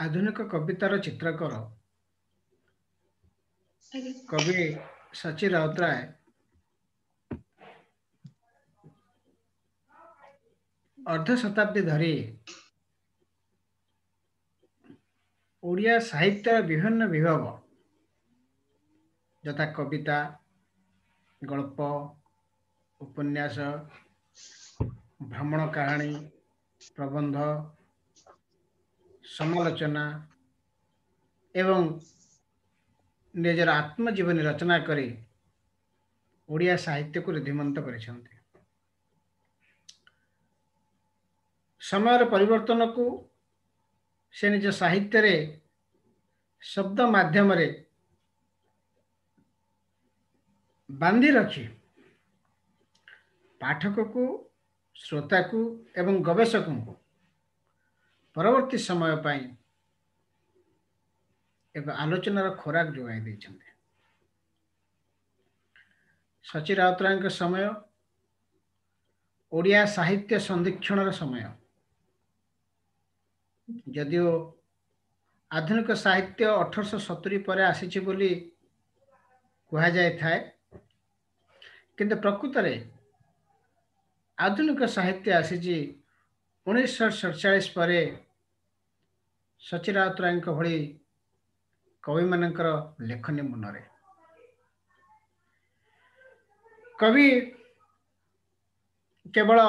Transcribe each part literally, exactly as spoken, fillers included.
ଆଧୁନିକ କବିତାର ଚିତ୍ରକର ଆଜ୍ଞା। କବି ସଚି ରାଉତରାୟ ଅର୍ଦ୍ଧ ଶତାବ୍ଦୀ ଧରି ଓଡ଼ିଆ ସାହିତ୍ୟର ବିଭିନ୍ନ ବିଭବ ଯଥା କବିତା, ଗଳ୍ପ, ଉପନ୍ୟାସ, ଭ୍ରମଣ କାହାଣୀ, ପ୍ରବନ୍ଧ, ସମାଲୋଚନା ଏବଂ ନିଜର ଆତ୍ମଜୀବନୀ ରଚନା କରି ଓଡ଼ିଆ ସାହିତ୍ୟକୁ ଋଦ୍ଧିମନ୍ତ କରିଛନ୍ତି। ସମୟର ପରିବର୍ତ୍ତନକୁ ସେ ନିଜ ସାହିତ୍ୟରେ ଶବ୍ଦ ମାଧ୍ୟମରେ ବାନ୍ଧି ରଖି ପାଠକକୁ, ଶ୍ରୋତାକୁ ଏବଂ ଗବେଷକଙ୍କୁ ପରବର୍ତ୍ତୀ ସମୟ ପାଇଁ ଏକ ଆଲୋଚନାର ଖୋରାକ ଯୋଗାଇ ଦେଇଛନ୍ତି। ସଚି ରାଉତରାୟଙ୍କ ସମୟ ଓଡ଼ିଆ ସାହିତ୍ୟ ସନ୍ଧିକ୍ଷଣର ସମୟ। ଯଦିଓ ଆଧୁନିକ ସାହିତ୍ୟ ଅଠରଶହ ସତୁରି ପରେ ଆସିଛି ବୋଲି କୁହାଯାଇଥାଏ, କିନ୍ତୁ ପ୍ରକୃତରେ ଆଧୁନିକ ସାହିତ୍ୟ ଆସିଛି ଉଣେଇଶହ ସଡ଼ଚାଳିଶ ପରେ ସଚି ରାଉତରାୟଙ୍କ ଭଳି କବିମାନଙ୍କର ଲେଖନୀ ମୁନରେ। କବି କେବଳ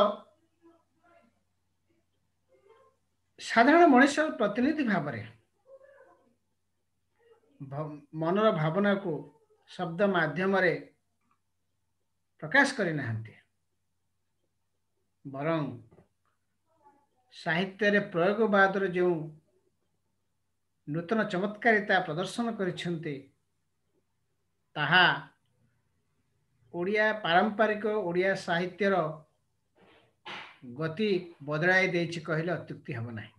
ସାଧାରଣ ମଣିଷ ପ୍ରତିନିଧି ଭାବରେ ମନର ଭାବନାକୁ ଶବ୍ଦ ମାଧ୍ୟମରେ ପ୍ରକାଶ କରିନାହାନ୍ତି, ବରଂ ସାହିତ୍ୟରେ ପ୍ରୟୋଗବାଦର ଯେଉଁ ନୂତନ ଚମତ୍କାରିତା ପ୍ରଦର୍ଶନ କରିଛନ୍ତି, ତାହା ଓଡ଼ିଆ ପାରମ୍ପରିକ ଓଡ଼ିଆ ସାହିତ୍ୟର ଗତି ବଦଳାଇ ଦେଇଛି କହିଲେ ଅତ୍ୟୁକ୍ତି ହେବ ନାହିଁ।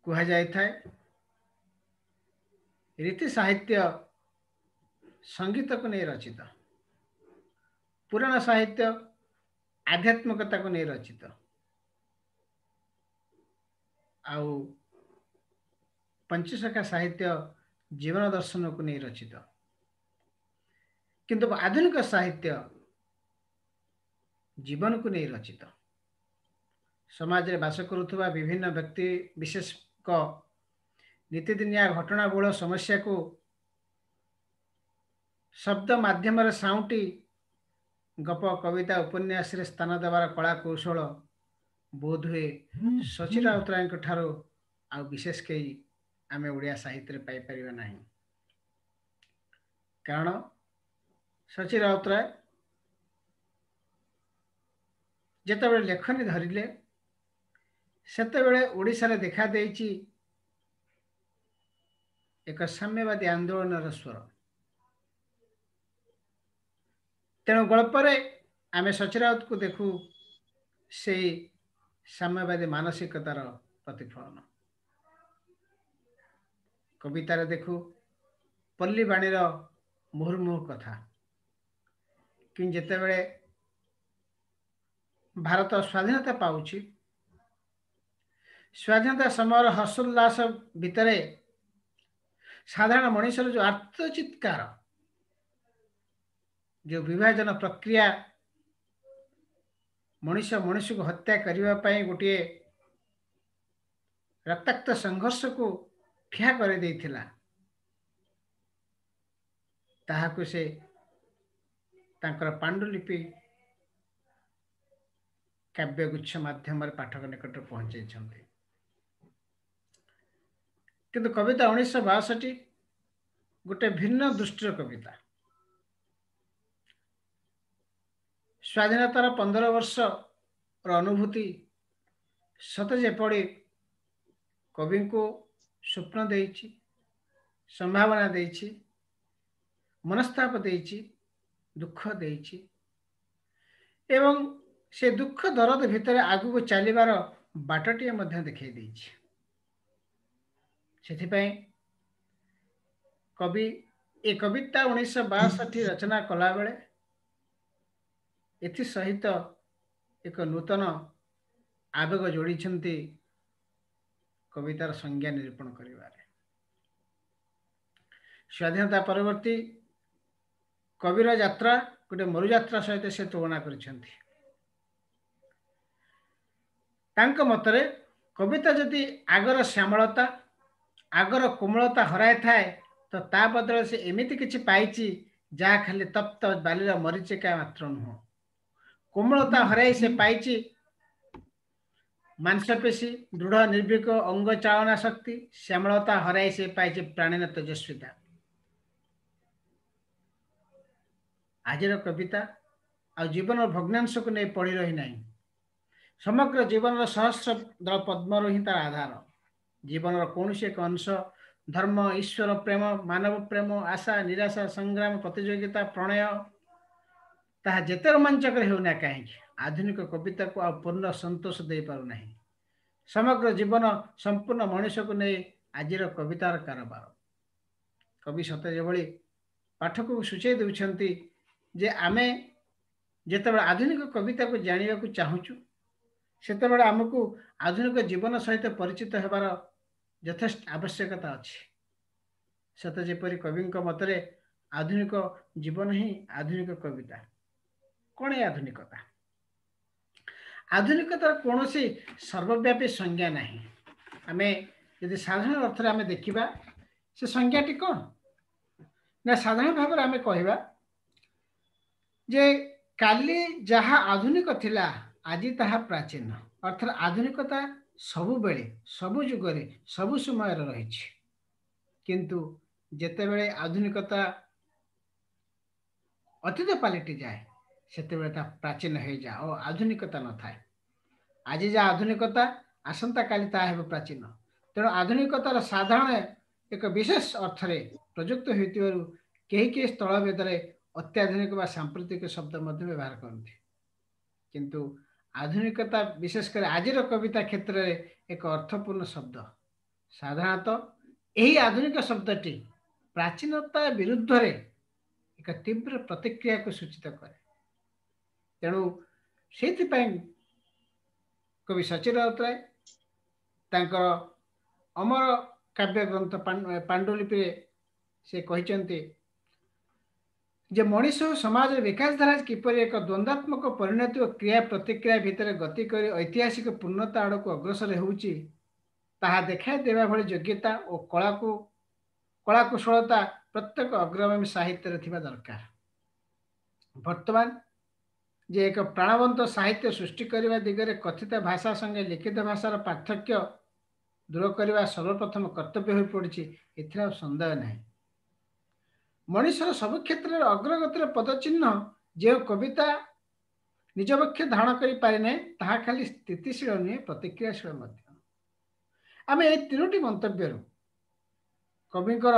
କୁହାଯାଇଥାଏ ରୀତି ସାହିତ୍ୟ ସଙ୍ଗୀତକୁ ନେଇ ରଚିତ, ପୁରାଣ ସାହିତ୍ୟ ଆଧ୍ୟାତ୍ମିକତାକୁ ନେଇ ରଚିତ, ଆଉ ପଞ୍ଚସଖା ସାହିତ୍ୟ ଜୀବନ ଦର୍ଶନକୁ ନେଇ ରଚିତ। କିନ୍ତୁ ଆଧୁନିକ ସାହିତ୍ୟ ଜୀବନକୁ ନେଇ ରଚିତ। ସମାଜରେ ବାସ କରୁଥିବା ବିଭିନ୍ନ ବ୍ୟକ୍ତି ବିଶେଷଙ୍କ ନୀତିଦିନିଆ ଘଟଣାବହୁଳ ସମସ୍ୟାକୁ ଶବ୍ଦ ମାଧ୍ୟମରେ ସାଉଁଟି ଗପ, କବିତା, ଉପନ୍ୟାସରେ ସ୍ଥାନ ଦେବାର କଳା କୌଶଳ ବୋଧହୁଏ ସଚି ରାଉତରାୟଙ୍କ ଠାରୁ ଆଉ ବିଶେଷ କେହି ଆମେ ଓଡ଼ିଆ ସାହିତ୍ୟରେ ପାଇପାରିବା ନାହିଁ। କାରଣ ସଚି ରାଉତରାୟ ଯେତେବେଳେ ଲେଖନୀ ଧରିଲେ, ସେତେବେଳେ ଓଡ଼ିଶାରେ ଦେଖାଦେଇଛି ଏକ ସାମ୍ୟବାଦୀ ଆନ୍ଦୋଳନର ସ୍ୱର। ତେଣୁ ଗଳ୍ପରେ ଆମେ ସଚି ରାଉତକୁ ଦେଖୁ ସେଇ ସାମ୍ୟବାଦୀ ମାନସିକତାର ପ୍ରତିଫଳନ, କବିତାରେ ଦେଖୁ ପଲ୍ଲୀବାଣୀର ମୁହୁର୍ମୁହୁ କଥା। କିନ୍ତୁ ଯେତେବେଳେ ଭାରତ ସ୍ୱାଧୀନତା ପାଉଛି, ସ୍ୱାଧୀନତା ସମୟର ହର୍ଷୋଲ୍ଲାସ ଭିତରେ ସାଧାରଣ ମଣିଷର ଯେଉଁ ଆର୍ତ୍ତଚିତ୍କାର, ଯେଉଁ ବିଭାଜନ ପ୍ରକ୍ରିୟା ମଣିଷ ମଣିଷକୁ ହତ୍ୟା କରିବା ପାଇଁ ଗୋଟିଏ ରକ୍ତାକ୍ତ ସଂଘର୍ଷକୁ ଠିଆ କରିଦେଇଥିଲା, ତାହାକୁ ସେ ତାଙ୍କର ପାଣ୍ଡୁଲିପି କାବ୍ୟଗୁଚ୍ଛ ମାଧ୍ୟମରେ ପାଠକ ନିକଟରେ ପହଞ୍ଚାଇଛନ୍ତି। କିନ୍ତୁ କବିତା ଉଣେଇଶହ ବାଷଠି ଗୋଟେ ଭିନ୍ନ ଦୃଷ୍ଟିର କବିତା। ସ୍ୱାଧୀନତାର ପନ୍ଦର ବର୍ଷର ଅନୁଭୂତି ସତେ ଯେପରି କବିଙ୍କୁ ସ୍ୱପ୍ନ ଦେଇଛି, ସମ୍ଭାବନା ଦେଇଛି, ମନସ୍ତାପ ଦେଇଛି, ଦୁଃଖ ଦେଇଛି ଏବଂ ସେ ଦୁଃଖ ଦରଦ ଭିତରେ ଆଗକୁ ଚାଲିବାର ବାଟଟିଏ ମଧ୍ୟ ଦେଖାଇ ଦେଇଛି। ସେଥିପାଇଁ କବି ଏ କବିତା ଉଣେଇଶହ ବାଷଠି ରଚନା କଲାବେଳେ ଏଥିସହିତ ଏକ ନୂତନ ଆବେଗ ଯୋଡ଼ିଛନ୍ତି କବିତାର ସଂଜ୍ଞା ନିରୂପଣ କରିବାରେ। ସ୍ୱାଧୀନତା ପରବର୍ତ୍ତୀ କବିର ଯାତ୍ରା ଗୋଟେ ମରୁଯାତ୍ରା ସହିତ ସେ ତୁଳନା କରିଛନ୍ତି। ତାଙ୍କ ମତରେ କବିତା ଯଦି ଆଗର ଶ୍ୟାମଳତା, ଆଗର କୋମଳତା ହରାଇଥାଏ, ତ ତା ବଦଳରେ ସେ ଏମିତି କିଛି ପାଇଛି ଯାହା ଖାଲି ତପ୍ତ ବାଲିର ମରିଚିକା ମାତ୍ର ନୁହଁ। କୋମଳତା ହରାଇ ସେ ପାଇଛି ମାଂସପେଶୀ, ଦୃଢ଼ ନିର୍ଭୀକ ଅଙ୍ଗ ଚାଳନା ଶକ୍ତି। ଶ୍ୟାମଳତା ହରାଇ ସେ ପାଇଛି ପ୍ରାଣୀର ତେଜସ୍ୱିତା। ଆଜିର କବିତା ଆଉ ଜୀବନର ଭଗ୍ନାଂଶକୁ ନେଇ ପଡ଼ି ରହିନାହିଁ। ସମଗ୍ର ଜୀବନର ସହସ୍ର ଦଳ ପଦ୍ମରୁ ହିଁ ତାର ଆଧାର। ଜୀବନର କୌଣସି ଏକ ଅଂଶ, ଧର୍ମ, ଈଶ୍ୱର ପ୍ରେମ, ମାନବ ପ୍ରେମ, ଆଶା, ନିରାଶା, ସଂଗ୍ରାମ, ପ୍ରତିଯୋଗିତା, ପ୍ରଣୟ, ତାହା ଯେତେ ରୋମାଞ୍ଚକର ହେଉନା କାହିଁକି, ଆଧୁନିକ କବିତାକୁ ଆଉ ପୂର୍ଣ୍ଣ ସନ୍ତୋଷ ଦେଇପାରୁନାହିଁ। ସମଗ୍ର ଜୀବନ, ସମ୍ପୂର୍ଣ୍ଣ ମଣିଷକୁ ନେଇ ଆଜିର କବିତାର କାରବାର। କବି ସତେ ଯେଭଳି ପାଠକକୁ ସୂଚାଇ ଦେଉଛନ୍ତି ଯେ ଆମେ ଯେତେବେଳେ ଆଧୁନିକ କବିତାକୁ ଜାଣିବାକୁ ଚାହୁଁଛୁ, ସେତେବେଳେ ଆମକୁ ଆଧୁନିକ ଜୀବନ ସହିତ ପରିଚିତ ହେବାର ଯଥେଷ୍ଟ ଆବଶ୍ୟକତା ଅଛି। ସତେ ଯେପରି କବିଙ୍କ ମତରେ ଆଧୁନିକ ଜୀବନ ହିଁ ଆଧୁନିକ କବିତା। କ'ଣ ଏ ଆଧୁନିକତା? ଆଧୁନିକତାର କୌଣସି ସର୍ବବ୍ୟାପୀ ସଂଜ୍ଞା ନାହିଁ। ଆମେ ଯଦି ସାଧାରଣ ଅର୍ଥରେ ଆମେ ଦେଖିବା, ସେ ସଂଜ୍ଞାଟି କ'ଣ ନା, ସାଧାରଣ ଭାବରେ ଆମେ କହିବା ଯେ କାଲି ଯାହା ଆଧୁନିକ ଥିଲା, ଆଜି ତାହା ପ୍ରାଚୀନ। ଅର୍ଥାତ୍ ଆଧୁନିକତା ସବୁବେଳେ, ସବୁ ଯୁଗରେ, ସବୁ ସମୟରେ ରହିଛି। କିନ୍ତୁ ଯେତେବେଳେ ଆଧୁନିକତା ଅତୀତ ପାଲଟି ଯାଏ, ସେତେବେଳେ ତାହା ପ୍ରାଚୀନ ହେଇଯାଏ ଓ ଆଧୁନିକତା ନଥାଏ। ଆଜି ଯାହା ଆଧୁନିକତା, ଆସନ୍ତାକାଲି ତାହା ହେବ ପ୍ରାଚୀନ। ତେଣୁ ଆଧୁନିକତାର ସାଧାରଣ ଏକ ବିଶେଷ ଅର୍ଥରେ ପ୍ରଯୁକ୍ତ ହୋଇଥିବାରୁ କେହି କେହି ସ୍ଥଳଭେଦରେ ଅତ୍ୟାଧୁନିକ ବା ସାମ୍ପ୍ରତିକ ଶବ୍ଦ ମଧ୍ୟ ବ୍ୟବହାର କରନ୍ତି। କିନ୍ତୁ ଆଧୁନିକତା ବିଶେଷ କରି ଆଜିର କବିତା କ୍ଷେତ୍ରରେ ଏକ ଅର୍ଥପୂର୍ଣ୍ଣ ଶବ୍ଦ। ସାଧାରଣତଃ ଏହି ଆଧୁନିକ ଶବ୍ଦଟି ପ୍ରାଚୀନତା ବିରୁଦ୍ଧରେ ଏକ ତୀବ୍ର ପ୍ରତିକ୍ରିୟାକୁ ସୂଚିତ କରେ। ତେଣୁ ସେଇଥିପାଇଁ କବି ସଚ୍ଚି ରାଉତରାୟ ତାଙ୍କର ଅମର କାବ୍ୟ ଗ୍ରନ୍ଥ ପାଣ୍ଡୁଲିପିରେ ସେ କହିଛନ୍ତି ଯେ ମଣିଷ ଓ ସମାଜର ବିକାଶ ଧାରା କିପରି ଏକ ଦ୍ୱନ୍ଦ୍ୱାତ୍ମକ ପରିଣତି ଓ କ୍ରିୟା ପ୍ରତିକ୍ରିୟା ଭିତରେ ଗତି କରି ଐତିହାସିକ ପୂର୍ଣ୍ଣତା ଆଡ଼କୁ ଅଗ୍ରସର ହେଉଛି, ତାହା ଦେଖାଇ ଦେବା ଭଳି ଯୋଗ୍ୟତା ଓ କଳାକୁ କଳାକୁଶଳତା ପ୍ରତ୍ୟେକ ଅଗ୍ରଗାମୀ ସାହିତ୍ୟରେ ଥିବା ଦରକାର। ବର୍ତ୍ତମାନ ଯେ ଏକ ପ୍ରାଣବନ୍ତ ସାହିତ୍ୟ ସୃଷ୍ଟି କରିବା ଦିଗରେ କଥିତ ଭାଷା ସଙ୍ଗେ ଲିଖିତ ଭାଷାର ପାର୍ଥକ୍ୟ ଦୂର କରିବା ସର୍ବପ୍ରଥମ କର୍ତ୍ତବ୍ୟ ହୋଇପଡ଼ିଛି, ଏଥିରେ ଆଉ ସନ୍ଦେହ ନାହିଁ। ମଣିଷର ସବୁ କ୍ଷେତ୍ରରେ ଅଗ୍ରଗତିର ପଦଚିହ୍ନ ଯେଉଁ କବିତା ନିଜ ପକ୍ଷ ଧାରଣ କରିପାରିନାହିଁ, ତାହା ଖାଲି ସ୍ଥିତିଶୀଳ ନୁହେଁ, ପ୍ରତିକ୍ରିୟାଶୀଳ ମଧ୍ୟ। ଆମେ ଏଇ ତିନୋଟି ମନ୍ତବ୍ୟରୁ କବିଙ୍କର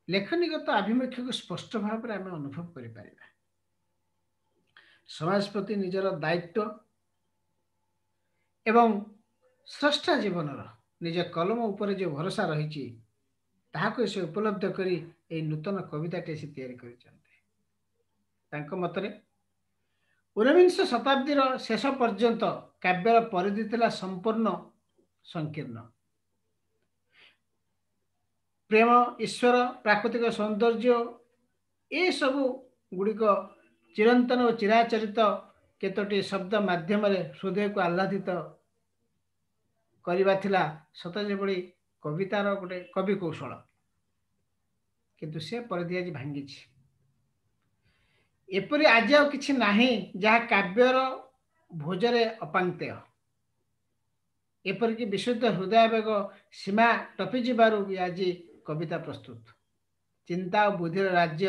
ଲେଖନୀଗତ ଆଭିମୁଖ୍ୟକୁ ସ୍ପଷ୍ଟ ଭାବରେ ଆମେ ଅନୁଭବ କରିପାରିବା। ସମାଜ ପ୍ରତି ନିଜର ଦାୟିତ୍ୱ ଏବଂ ସ୍ରଷ୍ଟା ଜୀବନର ନିଜ କଲମ ଉପରେ ଯେଉଁ ଭରସା ରହିଛି, ତାହାକୁ ସେ ଉପଲବ୍ଧ କରି ଏହି ନୂତନ କବିତାଟି ସେ ତିଆରି କରିଛନ୍ତି। ତାଙ୍କ ମତରେ ଊନବିଂଶ ଶତାବ୍ଦୀର ଶେଷ ପର୍ଯ୍ୟନ୍ତ କାବ୍ୟର ପରିଧି ଥିଲା ସମ୍ପୂର୍ଣ୍ଣ ସଂକୀର୍ଣ୍ଣ। ପ୍ରେମ, ଈଶ୍ୱର, ପ୍ରାକୃତିକ ସୌନ୍ଦର୍ଯ୍ୟ, ଏସବୁ ଗୁଡ଼ିକ ଚିରନ୍ତନ ଓ ଚିରାଚରିତ କେତୋଟି ଶବ୍ଦ ମାଧ୍ୟମରେ ହୃଦୟକୁ ଆହ୍ଲାଦିତ କରିବା ଥିଲା ସତ ଯେଭଳି କବିତାର ଗୋଟେ କବି କୌଶଳ। କିନ୍ତୁ ସେ ପରିଧି ଆଜି ଭାଙ୍ଗିଛି। ଏପରି ଆଜି ଆଉ କିଛି ନାହିଁ ଯାହା କାବ୍ୟର ଭୋଜରେ ଅପାଙ୍କ୍ତେୟ। ଏପରିକି ବିଶୁଦ୍ଧ ହୃଦୟାବେଗ ସୀମା ଟପିଯିବାରୁ ବି ଆଜି କବିତା ପ୍ରସ୍ତୁତ। ଚିନ୍ତା ଓ ବୁଦ୍ଧିର ରାଜ୍ୟ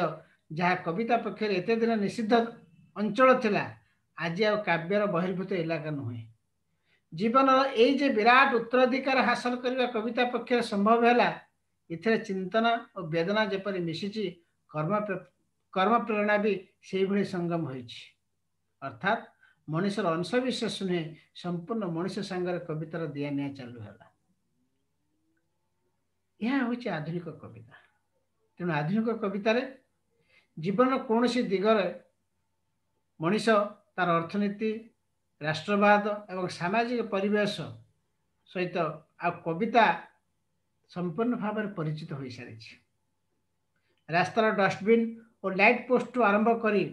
ଯାହା କବିତା ପକ୍ଷରେ ଏତେ ଦିନ ନିଷିଦ୍ଧ ଅଞ୍ଚଳ ଥିଲା, ଆଜି ଆଉ କାବ୍ୟର ବହିର୍ଭୂତ ଇଲାକା ନୁହେଁ। ଜୀବନର ଏଇ ଯେ ବିରାଟ ଉତ୍ତରାଧିକାର ହାସଲ କରିବା କବିତା ପକ୍ଷରେ ସମ୍ଭବ ହେଲା, ଏଥିରେ ଚିନ୍ତନ ଓ ବେଦନା ଯେପରି ମିଶିଛି, କର୍ମ କର୍ମ ପ୍ରେରଣା ବି ସେଇଭଳି ସଙ୍ଗମ ହୋଇଛି। ଅର୍ଥାତ୍ ମଣିଷର ଅଂଶ ବିଶେଷ ନୁହେଁ, ସମ୍ପୂର୍ଣ୍ଣ ମଣିଷ ସାଙ୍ଗରେ କବିତାର ଦିଆ ନିଆ ଚାଲୁ ହେଲା। ଏହା ହେଉଛି ଆଧୁନିକ କବିତା। ତେଣୁ ଆଧୁନିକ କବିତାରେ ଜୀବନର କୌଣସି ଦିଗରେ ମଣିଷ ତାର ଅର୍ଥନୀତି, ରାଷ୍ଟ୍ରବାଦ ଏବଂ ସାମାଜିକ ପରିବେଶ ସହିତ ଆଉ କବିତା ସମ୍ପୂର୍ଣ୍ଣ ଭାବରେ ପରିଚିତ ହୋଇସାରିଛି। ରାସ୍ତାର ଡଷ୍ଟବିନ୍ ଓ ଲାଇଟ୍ ପୋଷ୍ଟରୁ ଆରମ୍ଭ କରି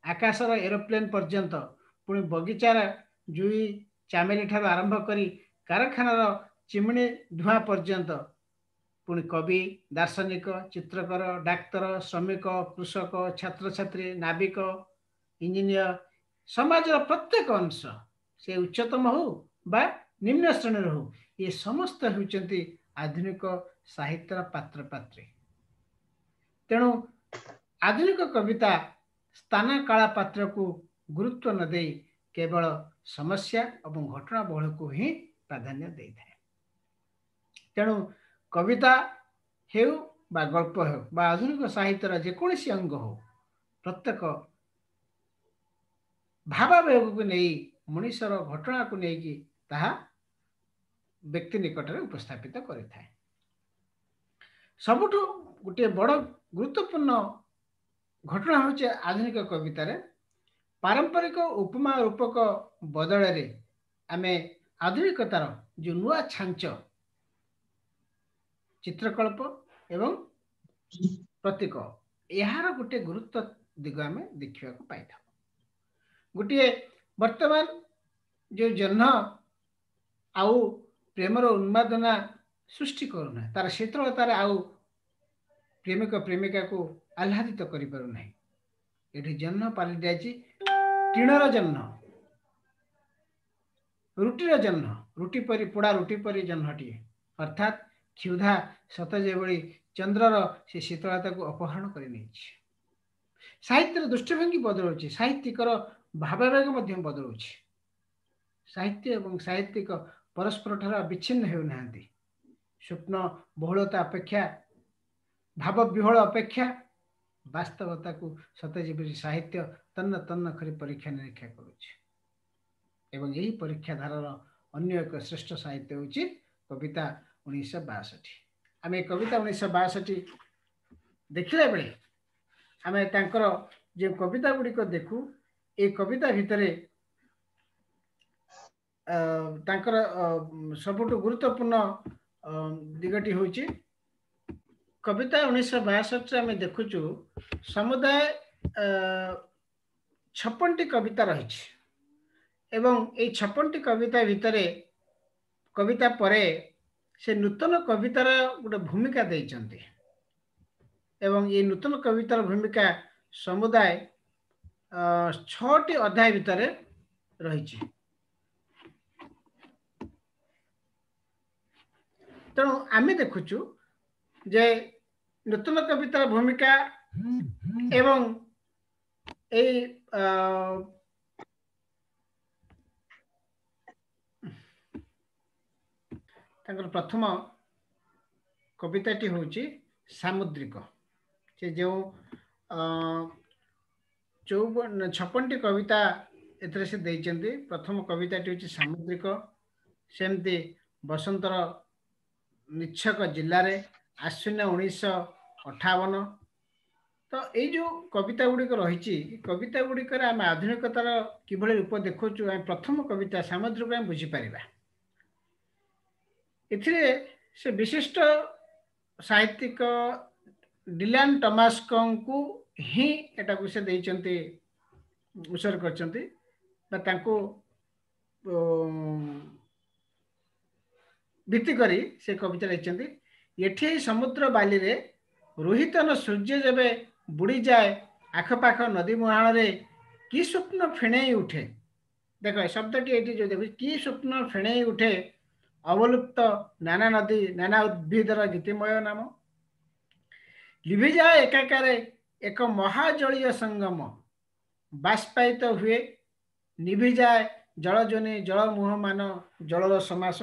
ଆକାଶର ଏରୋପ୍ଲେନ୍ ପର୍ଯ୍ୟନ୍ତ, ପୁଣି ବଗିଚାର ଜୁଇ ଚାମେଲି ଠାରୁ ଆରମ୍ଭ କରି କାରଖାନାର ଚିମିଣି ଧୂଆଁ ପର୍ଯ୍ୟନ୍ତ, ପୁଣି କବି, ଦାର୍ଶନିକ, ଚିତ୍ରକର, ଡାକ୍ତର, ଶ୍ରମିକ, କୃଷକ, ଛାତ୍ରଛାତ୍ରୀ, ନାବିକ, ଇଞ୍ଜିନିୟର, ସମାଜର ପ୍ରତ୍ୟେକ ଅଂଶ, ସେ ଉଚ୍ଚତମ ହଉ ବା ନିମ୍ନ ଶ୍ରେଣୀର ହଉ, ଏ ସମସ୍ତ ହେଉଛନ୍ତି ଆଧୁନିକ ସାହିତ୍ୟର ପାତ୍ରପାତ୍ରୀ। ତେଣୁ ଆଧୁନିକ କବିତା ସ୍ଥାନ କାଳ ପାତ୍ରକୁ ଗୁରୁତ୍ୱ ନ ଦେଇ କେବଳ ସମସ୍ୟା ଏବଂ ଘଟଣା ବହୁଳକୁ ହିଁ ପ୍ରାଧାନ୍ୟ ଦେଇଥାଏ। ତେଣୁ କବିତା ହେଉ ବା ଗଳ୍ପ ହେଉ ବା ଆଧୁନିକ ସାହିତ୍ୟର ଯେକୌଣସି ଅଙ୍ଗ ହଉ, ପ୍ରତ୍ୟେକ ଭାବାବେଗକୁ ନେଇ ମଣିଷର ଘଟଣାକୁ ନେଇକି ତାହା ବ୍ୟକ୍ତି ନିକଟରେ ଉପସ୍ଥାପିତ କରିଥାଏ। ସବୁଠୁ ଗୋଟିଏ ବଡ଼ ଗୁରୁତ୍ୱପୂର୍ଣ୍ଣ ଘଟଣା ହେଉଛି ଆଧୁନିକ କବିତାରେ ପାରମ୍ପରିକ ଉପମା ରୂପକ ବଦଳରେ ଆମେ ଆଧୁନିକତାର ଯେଉଁ ନୂଆ ଛାଞ୍ଚ ଚିତ୍ରକଳ୍ପ ଏବଂ ପ୍ରତୀକ, ଏହାର ଗୋଟିଏ ଗୁରୁତ୍ୱ ଦିଗ ଆମେ ଦେଖିବାକୁ ପାଇଥାଉ। ଗୋଟିଏ ବର୍ତ୍ତମାନ ଯେଉଁ ଜହ୍ନ ଆଉ ପ୍ରେମର ଉନ୍ମାଦନା ସୃଷ୍ଟି କରୁନାହିଁ, ତାର ଶୀତଳତାରେ ଆଉ ପ୍ରେମିକ ପ୍ରେମିକାକୁ ଆହ୍ଲାଦିତ କରିପାରୁନାହିଁ। ଏଠି ଜହ୍ନ ପାଲଟି ଯାଇଛି ଟିଣର ଜହ୍ନ, ରୁଟିର ଜହ୍ନ, ରୁଟି ପରି ପୋଡ଼ା ରୁଟି ପରି ଜହ୍ନଟିଏ, ଅର୍ଥାତ୍ କ୍ଷୁଧା ସତ ଯେଭଳି ଚନ୍ଦ୍ରର ସେ ଶୀତଳତାକୁ ଅପହରଣ କରି ନେଇଛି। ସାହିତ୍ୟର ଦୃଷ୍ଟିଭଙ୍ଗୀ ବଦଳୁଛି, ସାହିତ୍ୟିକର ଭାବାବେଗ ମଧ୍ୟ ବଦଳୁଛି। ସାହିତ୍ୟ ଏବଂ ସାହିତ୍ୟିକ ପରସ୍ପର ଠାରୁ ବିଚ୍ଛିନ୍ନ ହେଉନାହାନ୍ତି। ସ୍ୱପ୍ନ ବହୁଳତା ଅପେକ୍ଷା, ଭାବ ବିହ୍ୱଳ ଅପେକ୍ଷା ବାସ୍ତବତାକୁ ସତେ ଯେପରି ସାହିତ୍ୟ ତନ୍ନ ତନ୍ନ କରି ପରୀକ୍ଷା ନିରୀକ୍ଷା କରୁଛି। ଏବଂ ଏହି ପରୀକ୍ଷା ଧାରାର ଅନ୍ୟ ଏକ ଶ୍ରେଷ୍ଠ ସାହିତ୍ୟ ହେଉଛି କବିତା ଉଣେଇଶହ ବାଷଠି। ଆମେ କବିତା ଉଣେଇଶହ ବାଷଠି ଦେଖିଲା ବେଳେ ଆମେ ତାଙ୍କର ଯେଉଁ କବିତା ଗୁଡ଼ିକ ଦେଖୁ, ଏ କବିତା ଭିତରେ ତାଙ୍କର ସବୁଠୁ ଗୁରୁତ୍ୱପୂର୍ଣ୍ଣ ଦିଗଟି ହେଉଛି କବିତା ଉଣେଇଶହ ବାଷଠିରେ ଆମେ ଦେଖୁଛୁ ସମୁଦାୟ ଛପନଟି କବିତା ରହିଛି। ଏବଂ ଏଇ ଛପନଟି କବିତା ଭିତରେ କବିତା ପରେ ସେ ନୂତନ କବିତାର ଗୋଟେ ଭୂମିକା ଦେଇଛନ୍ତି ଏବଂ ଏଇ ନୂତନ କବିତାର ଭୂମିକା ସମୁଦାୟ ଛଅଟି ଅଧ୍ୟାୟ ଭିତରେ ରହିଛି। ତେଣୁ ଆମେ ଦେଖୁଛୁ ଯେ ନୂତନ କବିତାର ଭୂମିକା ଏବଂ ଏଇ ତାଙ୍କର ପ୍ରଥମ କବିତାଟି ହେଉଛି ସାମୁଦ୍ରିକ। ସେ ଯେଉଁ ଚଉବନ ଛପନଟି କବିତା ଏଥିରେ ସେ ଦେଇଛନ୍ତି, ପ୍ରଥମ କବିତାଟି ହେଉଛି ସାମୁଦ୍ରିକ। ସେମିତି ବସନ୍ତର ନିଚ୍ଛକ ଜିଲ୍ଲାରେ, ଆଶ୍ୱିନ ଉଣେଇଶହ ଅଠାବନ। ତ ଏଇ ଯେଉଁ କବିତା ଗୁଡ଼ିକ ରହିଛି, କବିତା ଗୁଡ଼ିକରେ ଆମେ ଆଧୁନିକତାର କିଭଳି ରୂପ ଦେଖୁଛୁ, ଆମେ ପ୍ରଥମ କବିତା ସାମୁଦ୍ରିକ ଆମେ ବୁଝିପାରିବା। ଏଥିରେ ସେ ବିଶିଷ୍ଟ ସାହିତ୍ୟିକ ଡିଲାନ ଟମାସ୍କଙ୍କୁ ହିଁ ଏଟାକୁ ସେ ଦେଇଛନ୍ତି, ଉତ୍ସର୍ଗ କରିଛନ୍ତି ବା ତାଙ୍କୁ ଭିତ୍ତି କରି ସେ କବିତା ଲେଖିଛନ୍ତି। ଏଠି ସମୁଦ୍ର ବାଲିରେ ରୋହିତନ ସୂର୍ଯ୍ୟ ଯେବେ ବୁଡ଼ିଯାଏ, ଆଖପାଖ ନଦୀ ମୁହାଣରେ କି ସ୍ୱପ୍ନ ଫେଣେଇ ଉଠେ। ଦେଖ ଶବ୍ଦଟି ଏଠି ଯୋଉ ଦେଖୁଛି, କି ସ୍ୱପ୍ନ ଫେଣେଇ ଉଠେ ଅବଲୁପ୍ତ ନାନା ନଦୀ ନାନା ଉଦ୍ଭିଦର ଗୀତିମୟ ନାମ। ଲିଭିଯାଏ ଏକାକାରେ ଏକ ମହାଜଳୀୟ ସଙ୍ଗମ, ବାଷ୍ପାୟିତ ହୁଏ ନିଭିଯାଏ ଜଳଜନି ଜଳ ମୁହଁମାନ ଜଳର ସମାସ।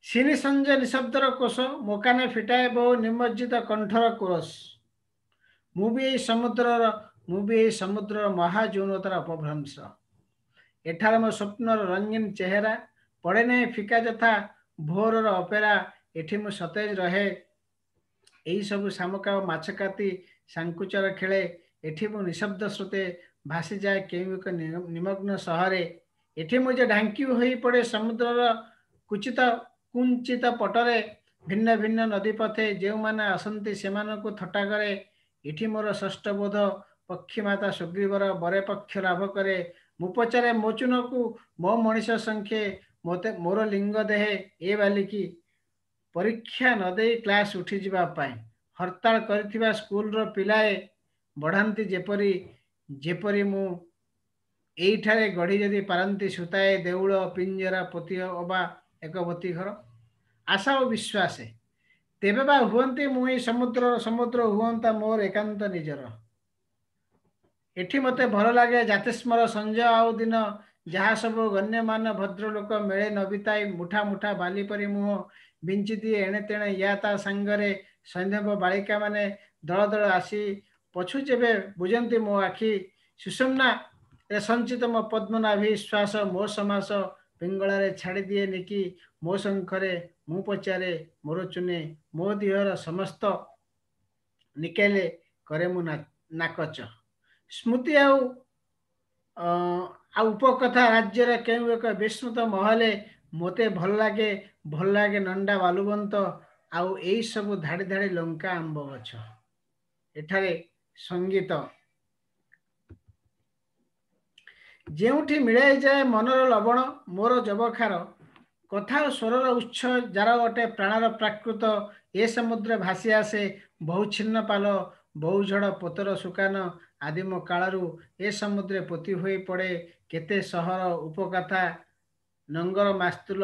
ସିନି ସଞ୍ଜ ନିଶବ୍ଦର କୋଷ ମୋକାନେ ଫିଟାଏ ବହୁ ନିମଜ୍ଜିତ କଣ୍ଠର କୋରସ। ମୁଁ ବି ଏଇ ସମୁଦ୍ରର ମୁଁ ବି ଏଇ ସମୁଦ୍ରର ମହାଯୌନତାର ଅପଭ୍ରଂଶ। ଏଠାରେ ମୋ ସ୍ୱପ୍ନର ରଙ୍ଗୀନ ଚେହେରା ପଡ଼େ ନାହିଁ ଫିକା ଯଥା ଭୋରର ଅପେରା। ଏଠି ମୁଁ ସତେଜ ରହେ, ଏଇସବୁ ଶାମୁକା ଓ ମାଛକାତି ସାଙ୍କୁଚର ଖେଳେ। ଏଠି ମୁଁ ନିଶବ୍ଦ ସ୍ରୋତେ ଭାସିଯାଏ କେଉଁ ଏକ ନିମଗ୍ନ ସହରେ। ଏଠି ମୁଁ ଯେ ଢାଙ୍କି ହୋଇ ପଡ଼େ ସମୁଦ୍ରର କୁଚିତ କୁଞ୍ଚିତ ପଟରେ, ଭିନ୍ନ ଭିନ୍ନ ନଦୀ ପଥେ ଯେଉଁମାନେ ଆସନ୍ତି ସେମାନଙ୍କୁ ଥଟ୍ଟା କରେ। ଏଠି ମୋର ଷଷ୍ଠ ବୋଧ ପକ୍ଷୀମାତା ସୁଗ୍ରୀବର ବରେ ପକ୍ଷ ଲାଭ କରେ। ମୁଁ ପଚାରେ ମୋଚୁନକୁ ମୋ ମଣିଷ ସଂଖ୍ୟେ ମୋତେ ମୋର ଲିଙ୍ଗ ଦେହେ ଏ ବାଲିକି। ପରୀକ୍ଷା ନ ଦେଇ କ୍ଲାସ ଉଠିଯିବା ପାଇଁ ହରତାଳ କରିଥିବା ସ୍କୁଲର ପିଲାଏ ବଢ଼ାନ୍ତି ଯେପରି, ଯେପରି ମୁଁ ଏଇଠାରେ ଗଢ଼ି ଯଦି ପାରନ୍ତି ସୂତାଏ ଦେଉଳ ପିଞ୍ଜରା ପୋତି ଅବା ଏକ ବତୀ ଘର। ଆଶା ଓ ବିଶ୍ୱାସେ ତେବେ ବା ହୁଅନ୍ତି ମୁଁ ଏଇ ସମୁଦ୍ରର ସମୁଦ୍ର ହୁଅନ୍ତା ମୋର ଏକାନ୍ତ ନିଜର। ଏଠି ମୋତେ ଭଲ ଲାଗେ ଜାତିସ୍ମର ସଞ୍ଜ ଆଉ ଦିନ, ଯାହା ସବୁ ଗଣ୍ୟମାନ ଭଦ୍ରଲୋକ ମେଳେ ନବିତାଇ ମୁଠା ମୁଠା ବାଲି ପରି ମୁହଁ ବିଞ୍ଚି ଦିଏ ଏଣେ ତେଣେ ୟା ତା ସାଙ୍ଗରେ। ସୈନ୍ଧବ ବାଳିକା ମାନେ ଦଳ ଦଳ ଆସି ପଛୁ ଯେବେ ବୁଝନ୍ତି ମୋ ଆଖି, ସୁଷୁମ୍ନାରେ ସଞ୍ଚିତ ମୋ ପଦ୍ମନାଭି ଶ୍ୱାସ ମୋ ସମାସ ପିଙ୍ଗଳାରେ ଛାଡ଼ିଦିଏ ନିକି ମୋ ଶଙ୍ଖରେ। ମୁଁ ପଚାରେ ମୋର ଚୁନେ ମୋ ଦିହର ସମସ୍ତ ନିକେଲେ କରେ ମୁଁ ନାକଚ। ସ୍ମୃତି ଆଉ ଆଉ ଉପକଥା ରାଜ୍ୟର କେଉଁ ଏକ ବିସ୍ମୃତ ମହଲେ ମୋତେ ଭଲ ଲାଗେ, ଭଲ ଲାଗେ ନଣ୍ଡା ବାଲୁବନ୍ତ ଆଉ ଏଇ ସବୁ ଧାଡ଼ି ଧାଡ଼ି ଲଙ୍କା ଆମ୍ବ ଗଛ। ଏଠାରେ ସଙ୍ଗୀତ ଯେଉଁଠି ମିଳାଇଯାଏ ମନର ଲବଣ ମୋର ଯବଖାର, କଥା ଓ ସ୍ୱରର ଉତ୍ସ ଯାର ଅଟେ ପ୍ରାଣର ପ୍ରାକୃତ। ଏ ସମୁଦ୍ର ଭାସି ଆସେ ବହୁ ଛିନ୍ନ ପାଲ ବହୁ ଝଡ଼ ପୋତର ସୁକାନ। ଆଦିମ କାଳରୁ ଏ ସମୁଦ୍ରେ ପୋତି ହୋଇ ପଡ଼େ କେତେ ସହର ଉପକଥା ନଙ୍ଗର ମାସ୍ତୁଲ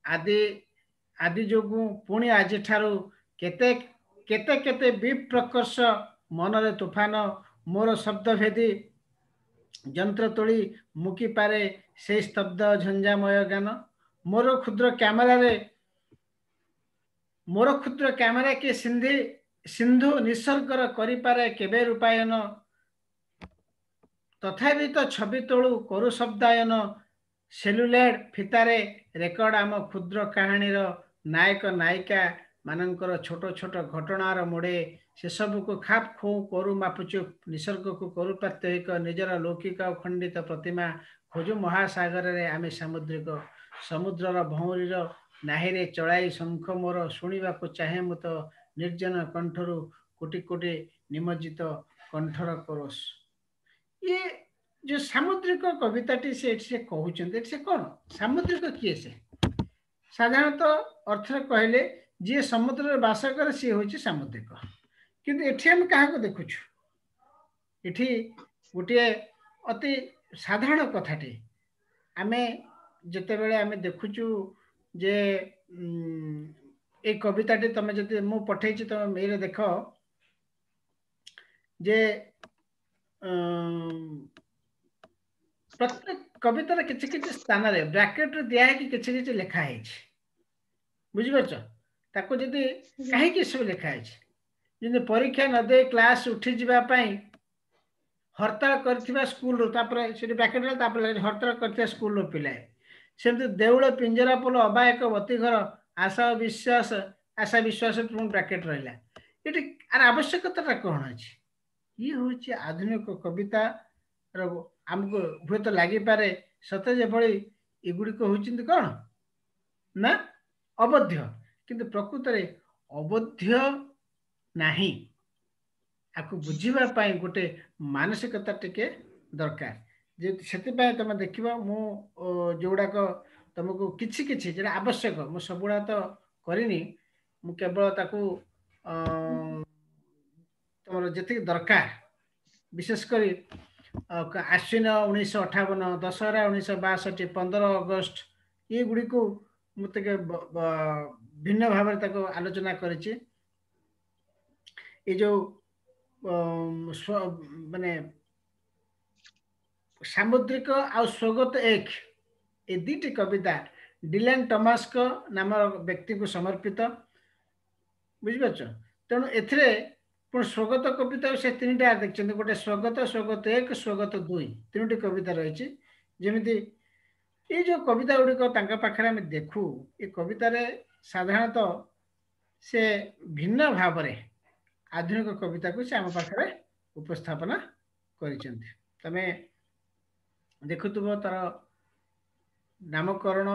ଆଦି ଆଦି ଯୋଗୁଁ ପୁଣି ଆଜିଠାରୁ କେତେ କେତେ କେତେ ବିପ୍ରକର୍ଷ ମନରେ ତୁଫାନ। ମୋର ଶବ୍ଦଭେଦୀ ଯନ୍ତ୍ର ତୋଳି ମୁକିପାରେ ସେଇ ସ୍ତବ୍ଧ ଝଞ୍ଜାମୟ ଗାନ। ମୋର କ୍ଷୁଦ୍ର କ୍ୟାମେରାରେ ମୋର କ୍ଷୁଦ୍ର କ୍ୟାମେରା କି ସିନ୍ଧି ସିନ୍ଧୁ ନିସର୍ଗର କରିପାରେ କେବେ ରୂପାୟନ। ତଥାପି ତ ଛବି ତୋଳୁ କରୁ ଶବ୍ଦାୟନ। ସେଲୁଲେଡ଼ ଫିତାରେ ରେକର୍ଡ ଆମ କ୍ଷୁଦ୍ର କାହାଣୀର ନାୟକ ନାୟିକା ମାନଙ୍କର ଛୋଟ ଛୋଟ ଘଟଣାର ମୋଡ଼େ। ସେସବୁକୁ ଖାପ ଖୋଉ କରୁ ମାପଚୁପ, ନିସର୍ଗକୁ କରୁ ପ୍ରାତ୍ୟହିକ ନିଜର ଲୌକିକ ଆଉ ଖଣ୍ଡିତ ପ୍ରତିମା। ଖୋଜୁ ମହାସାଗରରେ ଆମେ ସାମୁଦ୍ରିକ, ସମୁଦ୍ରର ଭଉଁରୀର ନାହିରେ ଚଳାଇ ଶଙ୍ଖ ମୋର। ଶୁଣିବାକୁ ଚାହେଁ ମୁଁ ତ ନିର୍ଜନ କଣ୍ଠରୁ କୋଟି କୋଟି ନିମଜ୍ଜିତ କଣ୍ଠର କୋରସ। ଇଏ ଯୋଉ ସାମୁଦ୍ରିକ କବିତାଟି ସେ ଏଠି ସେ କହୁଛନ୍ତି, ଏଠି ସେ କଣ ସାମୁଦ୍ରିକ କିଏ? ସେ ସାଧାରଣତଃ ଅର୍ଥରେ କହିଲେ ଯିଏ ସମୁଦ୍ରରେ ବାସ କରେ ସିଏ ହଉଛି ସାମୁଦ୍ରିକ। କିନ୍ତୁ ଏଠି ଆମେ କାହାକୁ ଦେଖୁଛୁ? ଏଠି ଗୋଟିଏ ଅତି ସାଧାରଣ କଥାଟି ଆମେ ଯେତେବେଳେ ଆମେ ଦେଖୁଛୁ ଯେ ଏଇ କବିତାଟି ତମେ ଯଦି ମୁଁ ପଠେଇଛି ତମେ ମେଲରେ ଦେଖ ଯେ ପ୍ରତ୍ୟେକ କବିତାର କିଛି କିଛି ସ୍ଥାନରେ ବ୍ରାକେଟରେ ଦିଆ ହେଇକି କିଛି କିଛି ଲେଖା ହେଇଛି, ବୁଝିପାରୁଛ? ତାକୁ ଯଦି କାହିଁକି ସବୁ ଲେଖା ହେଇଛି, ଯେମିତି ପରୀକ୍ଷା ନ ଦେଇ କ୍ଲାସ ଉଠିଯିବା ପାଇଁ ହରତାଳ କରିଥିବା ସ୍କୁଲରୁ, ତାପରେ ସେଠି ବ୍ରାକେଟ ହେଲା, ତାପରେ ହରତାଳ କରିଥିବା ସ୍କୁଲର ପିଲାଏ, ସେମିତି ଦେଉଳ ପିଞ୍ଜରା ପୋଲ ଅବା ଏକ ବତୀଘର ଆଶା ଓ ବିଶ୍ୱାସ, ଆଶା ବିଶ୍ୱାସ ପୁଣି ବ୍ରାକେଟ ରହିଲା। ଏଠି ଆର ଆବଶ୍ୟକତାଟା କ'ଣ ଅଛି? ଇଏ ହେଉଛି ଆଧୁନିକ କବିତାର ଆମକୁ ହୁଏତ ଲାଗିପାରେ ସତେ ଯେଭଳି ଏଗୁଡ଼ିକ ହେଉଛନ୍ତି କ'ଣ ନା ଅବୋଧ୍ୟ, କିନ୍ତୁ ପ୍ରକୃତରେ ଅବୋଧ୍ୟ ନାହିଁ। ଆକୁ ବୁଝିବା ପାଇଁ ଗୋଟେ ମାନସିକତା ଟିକେ ଦରକାର। ଯେ ସେଥିପାଇଁ ତମେ ଦେଖିବ ମୁଁ ଯେଉଁଗୁଡ଼ାକ ତମକୁ କିଛି କିଛି ଯେଉଁଟା ଆବଶ୍ୟକ, ମୁଁ ସବୁଗୁଡ଼ା ତ କରିନି, ମୁଁ କେବଳ ତାକୁ ତମର ଯେତିକି ଦରକାର, ବିଶେଷ କରି ଆଶ୍ୱିନ ଉଣେଇଶହ ଅଠାବନ, ଦଶହରା ଉଣେଇଶହ ବାଷଠି, ପନ୍ଦର ଅଗଷ୍ଟ, ଏଗୁଡ଼ିକୁ ମୁଁ ଟିକେ ଭିନ୍ନ ଭାବରେ ତାକୁ ଆଲୋଚନା କରିଛି। ଏ ଯେଉଁ ମାନେ ସାମୁଦ୍ରିକ ଆଉ ସ୍ୱଗତ ଏକ, ଏ ଦୁଇଟି କବିତା ଡିଲାନ ଟମାସ୍କ ନାମର ବ୍ୟକ୍ତିକୁ ସମର୍ପିତ, ବୁଝିପାରୁଛ? ତେଣୁ ଏଥିରେ ପୁଣି ସ୍ୱଗତ କବିତା ସେ ତିନିଟା ଦେଖିଛନ୍ତି, ଗୋଟେ ସ୍ୱଗତ, ସ୍ୱଗତ ଏକ, ସ୍ୱଗତ ଦୁଇ, ତିନୋଟି କବିତା ରହିଛି। ଯେମିତି ଏଇ ଯେଉଁ କବିତା ଗୁଡ଼ିକ ତାଙ୍କ ପାଖରେ ଆମେ ଦେଖୁ, ଏ କବିତାରେ ସାଧାରଣତଃ ସେ ଭିନ୍ନ ଭାବରେ ଆଧୁନିକ କବିତାକୁ ସେ ଆମ ପାଖରେ ଉପସ୍ଥାପନା କରିଛନ୍ତି। ତମେ ଦେଖୁଥିବ ତାର ନାମକରଣ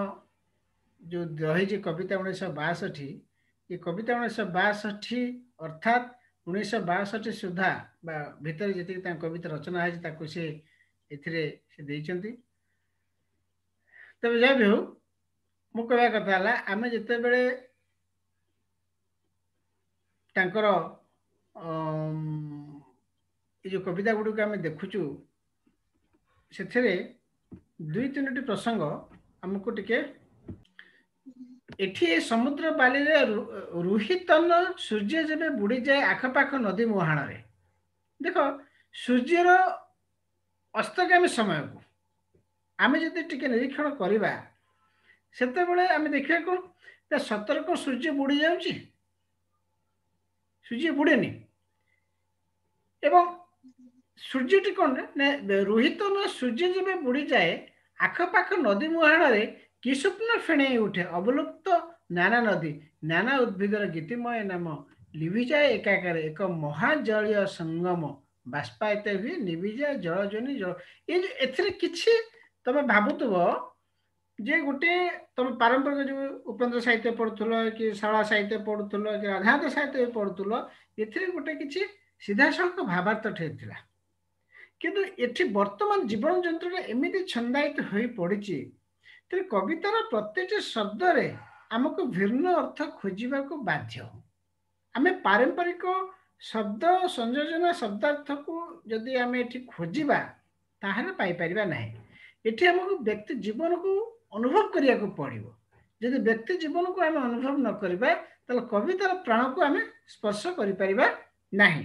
ଯେଉଁ ରହିଛି କବିତା ଉଣେଇଶହ ବାଷଠି ଏ କବିତା ଉଣେଇଶହ ବାଷଠି ଅର୍ଥାତ୍ ଉଣେଇଶହ ବାଷଠି ସୁଦ୍ଧା ବା ଭିତରେ ଯେତିକି ତାଙ୍କ କବିତା ରଚନା ହେଇଛି ତାକୁ ସେ ଏଥିରେ ସେ ଦେଇଛନ୍ତି। ତେବେ ଯାହା ବି ହଉ, ମୁଁ କହିବା କଥା ହେଲା ଆମେ ଯେତେବେଳେ ତାଙ୍କର ଏ ଯେଉଁ କବିତା ଗୁଡ଼ିକୁ ଆମେ ଦେଖୁଛୁ, ସେଥିରେ ଦୁଇ ତିନୋଟି ପ୍ରସଙ୍ଗ ଆମକୁ ଟିକେ ଏଠି ସମୁଦ୍ର ବାଲିରେ ରୁହିତନ ସୂର୍ଯ୍ୟ ଯେବେ ବୁଡ଼ିଯାଏ ଆଖପାଖ ନଦୀ ମୁହାଣରେ। ଦେଖ, ସୂର୍ଯ୍ୟର ଅସ୍ତଗାମୀ ସମୟକୁ ଆମେ ଯଦି ଟିକେ ନିରୀକ୍ଷଣ କରିବା, ସେତେବେଳେ ଆମେ ଦେଖିବା କ'ଣ ନା ସତରେ କ'ଣ ସୂର୍ଯ୍ୟ ବୁଡ଼ି ଯାଉଛି? ସୂର୍ଯ୍ୟ ବୁଡ଼େନି। ଏବଂ ସୂର୍ଯ୍ୟଟି କ'ଣ ନା ରୋହିତ ନା ସୂର୍ଯ୍ୟ ଯେବେ ବୁଡ଼ିଯାଏ ଆଖପାଖ ନଦୀ ମୁହାଣରେ କି ସ୍ୱପ୍ନ ଫେଣେଇ ଉଠେ ଅବଲୁପ୍ତ ନାନା ନଦୀ, ନାନା ଉଦ୍ଭିଦର ଗୀତିମୟ ନାମ ଲିଭିଯାଏ ଏକାକାରେ ଏକ ମହାଜଳୀୟ ସଙ୍ଗମ ବାଷ୍ପାୟିତ ହୁଏ ନିଭିଯାଏ ଜଳଜନି ଜଳ। ଏଇ ଯୋଉ ଏଥିରେ କିଛି ତମେ ଭାବୁଥିବ ଯେ ଗୋଟେ ତମେ ପାରମ୍ପରିକ ଯୋଉ ଉପେନ୍ଦ୍ର ସାହିତ୍ୟ ପଢୁଥିଲ କି ଶାରଳା ସାହିତ୍ୟ ପଢୁଥିଲ କି ରାଧାନାଥ ସାହିତ୍ୟ ପଢୁଥିଲ, ଏଥିରେ ଗୋଟେ କିଛି ସିଧାସଳଖ ଭାବାର୍ଥ ଥିଲା। କିନ୍ତୁ ଏଠି ବର୍ତ୍ତମାନ ଜୀବନ ଯନ୍ତ୍ରଟା ଏମିତି ଛନ୍ଦାୟିତ ହୋଇ ପଡ଼ିଛି, ତେଣୁ କବିତାର ପ୍ରତ୍ୟେକଟି ଶବ୍ଦରେ ଆମକୁ ଭିନ୍ନ ଅର୍ଥ ଖୋଜିବାକୁ ବାଧ୍ୟ। ଆମେ ପାରମ୍ପରିକ ଶବ୍ଦ ସଂଯୋଜନା ଶବ୍ଦାର୍ଥକୁ ଯଦି ଆମେ ଏଠି ଖୋଜିବା ତାହେଲେ ପାଇପାରିବା ନାହିଁ। ଏଠି ଆମକୁ ବ୍ୟକ୍ତି ଜୀବନକୁ ଅନୁଭବ କରିବାକୁ ପଡ଼ିବ। ଯଦି ବ୍ୟକ୍ତି ଜୀବନକୁ ଆମେ ଅନୁଭବ ନ କରିବା ତାହେଲେ କବିତାର ପ୍ରାଣକୁ ଆମେ ସ୍ପର୍ଶ କରିପାରିବା ନାହିଁ।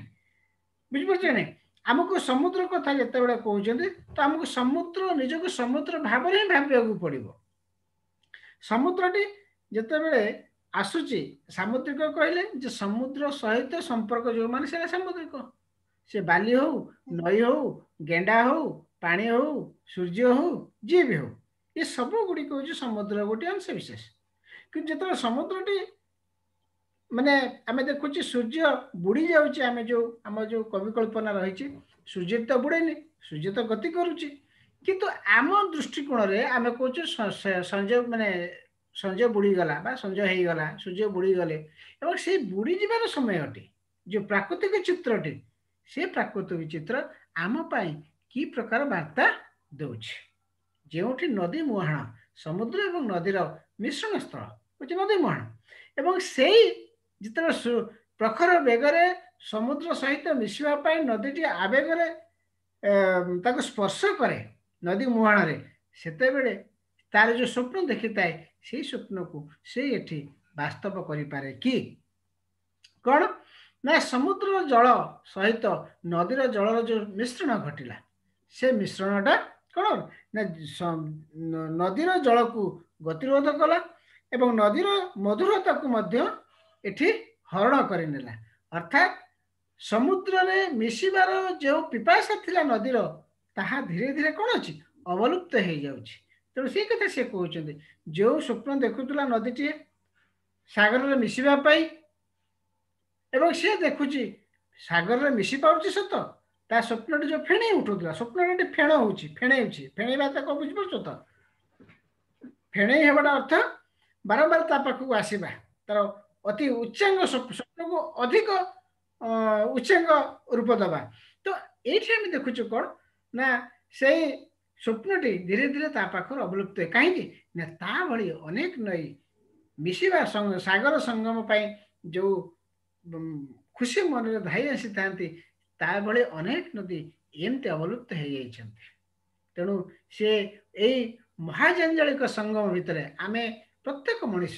ବୁଝିପାରୁଛ ନାଇଁ? ଆମକୁ ସମୁଦ୍ର କଥା ଯେତେବେଳେ କହୁଛନ୍ତି ତ ଆମକୁ ସମୁଦ୍ର ନିଜକୁ ସମୁଦ୍ର ଭାବରେ ହିଁ ଭାବିବାକୁ ପଡ଼ିବ। ସମୁଦ୍ରଟି ଯେତେବେଳେ ଆସୁଛି, ସାମୁଦ୍ରିକ କହିଲେ ଯେ ସମୁଦ୍ର ସହିତ ସମ୍ପର୍କ ଯେଉଁମାନେ ସେଇଟା ସାମୁଦ୍ରିକ। ସେ ବାଲି ହଉ, ନଈ ହଉ, ଗେଣ୍ଡା ହଉ, ପାଣି ହଉ, ସୂର୍ଯ୍ୟ ହଉ, ଯିଏ ବି ହଉ, ଏ ସବୁ ଗୁଡ଼ିକ ହେଉଛି ସମୁଦ୍ର ଗୋଟିଏ ଅଂଶ ବିଶେଷ। କିନ୍ତୁ ଯେତେବେଳେ ସମୁଦ୍ରଟି ମାନେ ଆମେ ଦେଖୁଛେ ସୂର୍ଯ୍ୟ ବୁଡ଼ି ଯାଉଛି, ଆମେ ଯେଉଁ ଆମ ଯେଉଁ କବି କଳ୍ପନା ରହିଛି ସୂର୍ଯ୍ୟ ତ ବୁଡ଼େନି, ସୂର୍ଯ୍ୟ ତ ଗତି କରୁଛି, କିନ୍ତୁ ଆମ ଦୃଷ୍ଟିକୋଣରେ ଆମେ କହୁଛୁ ସଞ୍ଜ ମାନେ ସଞ୍ଜ ବୁଡ଼ିଗଲା ବା ସଞ୍ଜ ହେଇଗଲା, ସୂର୍ଯ୍ୟ ବୁଡ଼ିଗଲେ। ଏବଂ ସେଇ ବୁଡ଼ିଯିବାର ସମୟଟି ଯେଉଁ ପ୍ରାକୃତିକ ଚିତ୍ରଟି, ସେ ପ୍ରାକୃତିକ ଚିତ୍ର ଆମ ପାଇଁ କି ପ୍ରକାର ବାର୍ତ୍ତା ଦେଉଛି? ଯେଉଁଠି ନଦୀ ମୁହାଣ, ସମୁଦ୍ର ଏବଂ ନଦୀର ମିଶ୍ରଣ ସ୍ଥଳ ହେଉଛି ନଦୀ ମୁହାଣ, ଏବଂ ସେଇ ଯେତେବେଳେ ପ୍ରଖର ବେଗରେ ସମୁଦ୍ର ସହିତ ମିଶିବା ପାଇଁ ନଦୀଟି ଆବେଗରେ ତାକୁ ସ୍ପର୍ଶ କରେ ନଦୀ ମୁହାଣରେ, ସେତେବେଳେ ତାର ଯେଉଁ ସ୍ୱପ୍ନ ଦେଖିଥାଏ ସେଇ ସ୍ୱପ୍ନକୁ ସେ ଏଠି ବାସ୍ତବ କରିପାରେ କି? କ'ଣ ନା ସମୁଦ୍ରର ଜଳ ସହିତ ନଦୀର ଜଳର ଯେଉଁ ମିଶ୍ରଣ ଘଟିଲା, ସେ ମିଶ୍ରଣଟା କ'ଣ ନା ନଦୀର ଜଳକୁ ଗତିରୋଧ କଲା ଏବଂ ନଦୀର ମଧୁରତାକୁ ମଧ୍ୟ ଏଠି ହରଣ କରିନେଲା। ଅର୍ଥାତ୍ ସମୁଦ୍ରରେ ମିଶିବାର ଯେଉଁ ପିପାସା ଥିଲା ନଦୀର, ତାହା ଧୀରେ ଧୀରେ କ'ଣ ଅଛି ଅବଲୁପ୍ତ ହେଇଯାଉଛି। ତେଣୁ ସେଇ କଥା ସେ କହୁଛନ୍ତି, ଯେଉଁ ସ୍ୱପ୍ନ ଦେଖୁଥିଲା ନଦୀଟିଏ ସାଗରରେ ମିଶିବା ପାଇଁ, ଏବଂ ସେ ଦେଖୁଛି ସାଗରରେ ମିଶି ପାରୁଛି ସତ, ତା ସ୍ୱପ୍ନଟି ଯେଉଁ ଫେଣେଇ ଉଠୁଥିଲା, ସ୍ୱପ୍ନଟା ଏଠି ଫେଣ ହେଉଛି, ଫେଣେଉଛି। ଫେଣେଇବା ତାକୁ ବୁଝିପାରୁଛ ତ? ଫେଣେଇ ହେବାଟା ଅର୍ଥ ବାରମ୍ବାର ତା ପାଖକୁ ଆସିବା, ତାର ଅତି ଉଚ୍ଚାଙ୍ଗ ସ୍ୱପ୍ନକୁ ଅଧିକ ଉଚ୍ଚାଙ୍ଗ ରୂପ ଦେବା। ତ ଏଇଠି ଆମେ ଦେଖୁଛୁ କ'ଣ ନା ସେଇ ସ୍ୱପ୍ନଟି ଧୀରେ ଧୀରେ ତା ପାଖରୁ ଅବଲୁପ୍ତ ହୁଏ। କାହିଁକି ନା ତା ଭଳି ଅନେକ ନଈ ମିଶିବା ସାଗର ସଙ୍ଗମ ପାଇଁ ଯେଉଁ ଖୁସି ମନରେ ଧାଇ ଆସିଥାନ୍ତି, ତା ଭଳି ଅନେକ ନଦୀ ଏମିତି ଅବଲୁପ୍ତ ହେଇଯାଇଛନ୍ତି। ତେଣୁ ସେ ଏଇ ମହାଜଞ୍ଜାଳିକ ସଙ୍ଗମ ଭିତରେ ଆମେ ପ୍ରତ୍ୟେକ ମଣିଷ,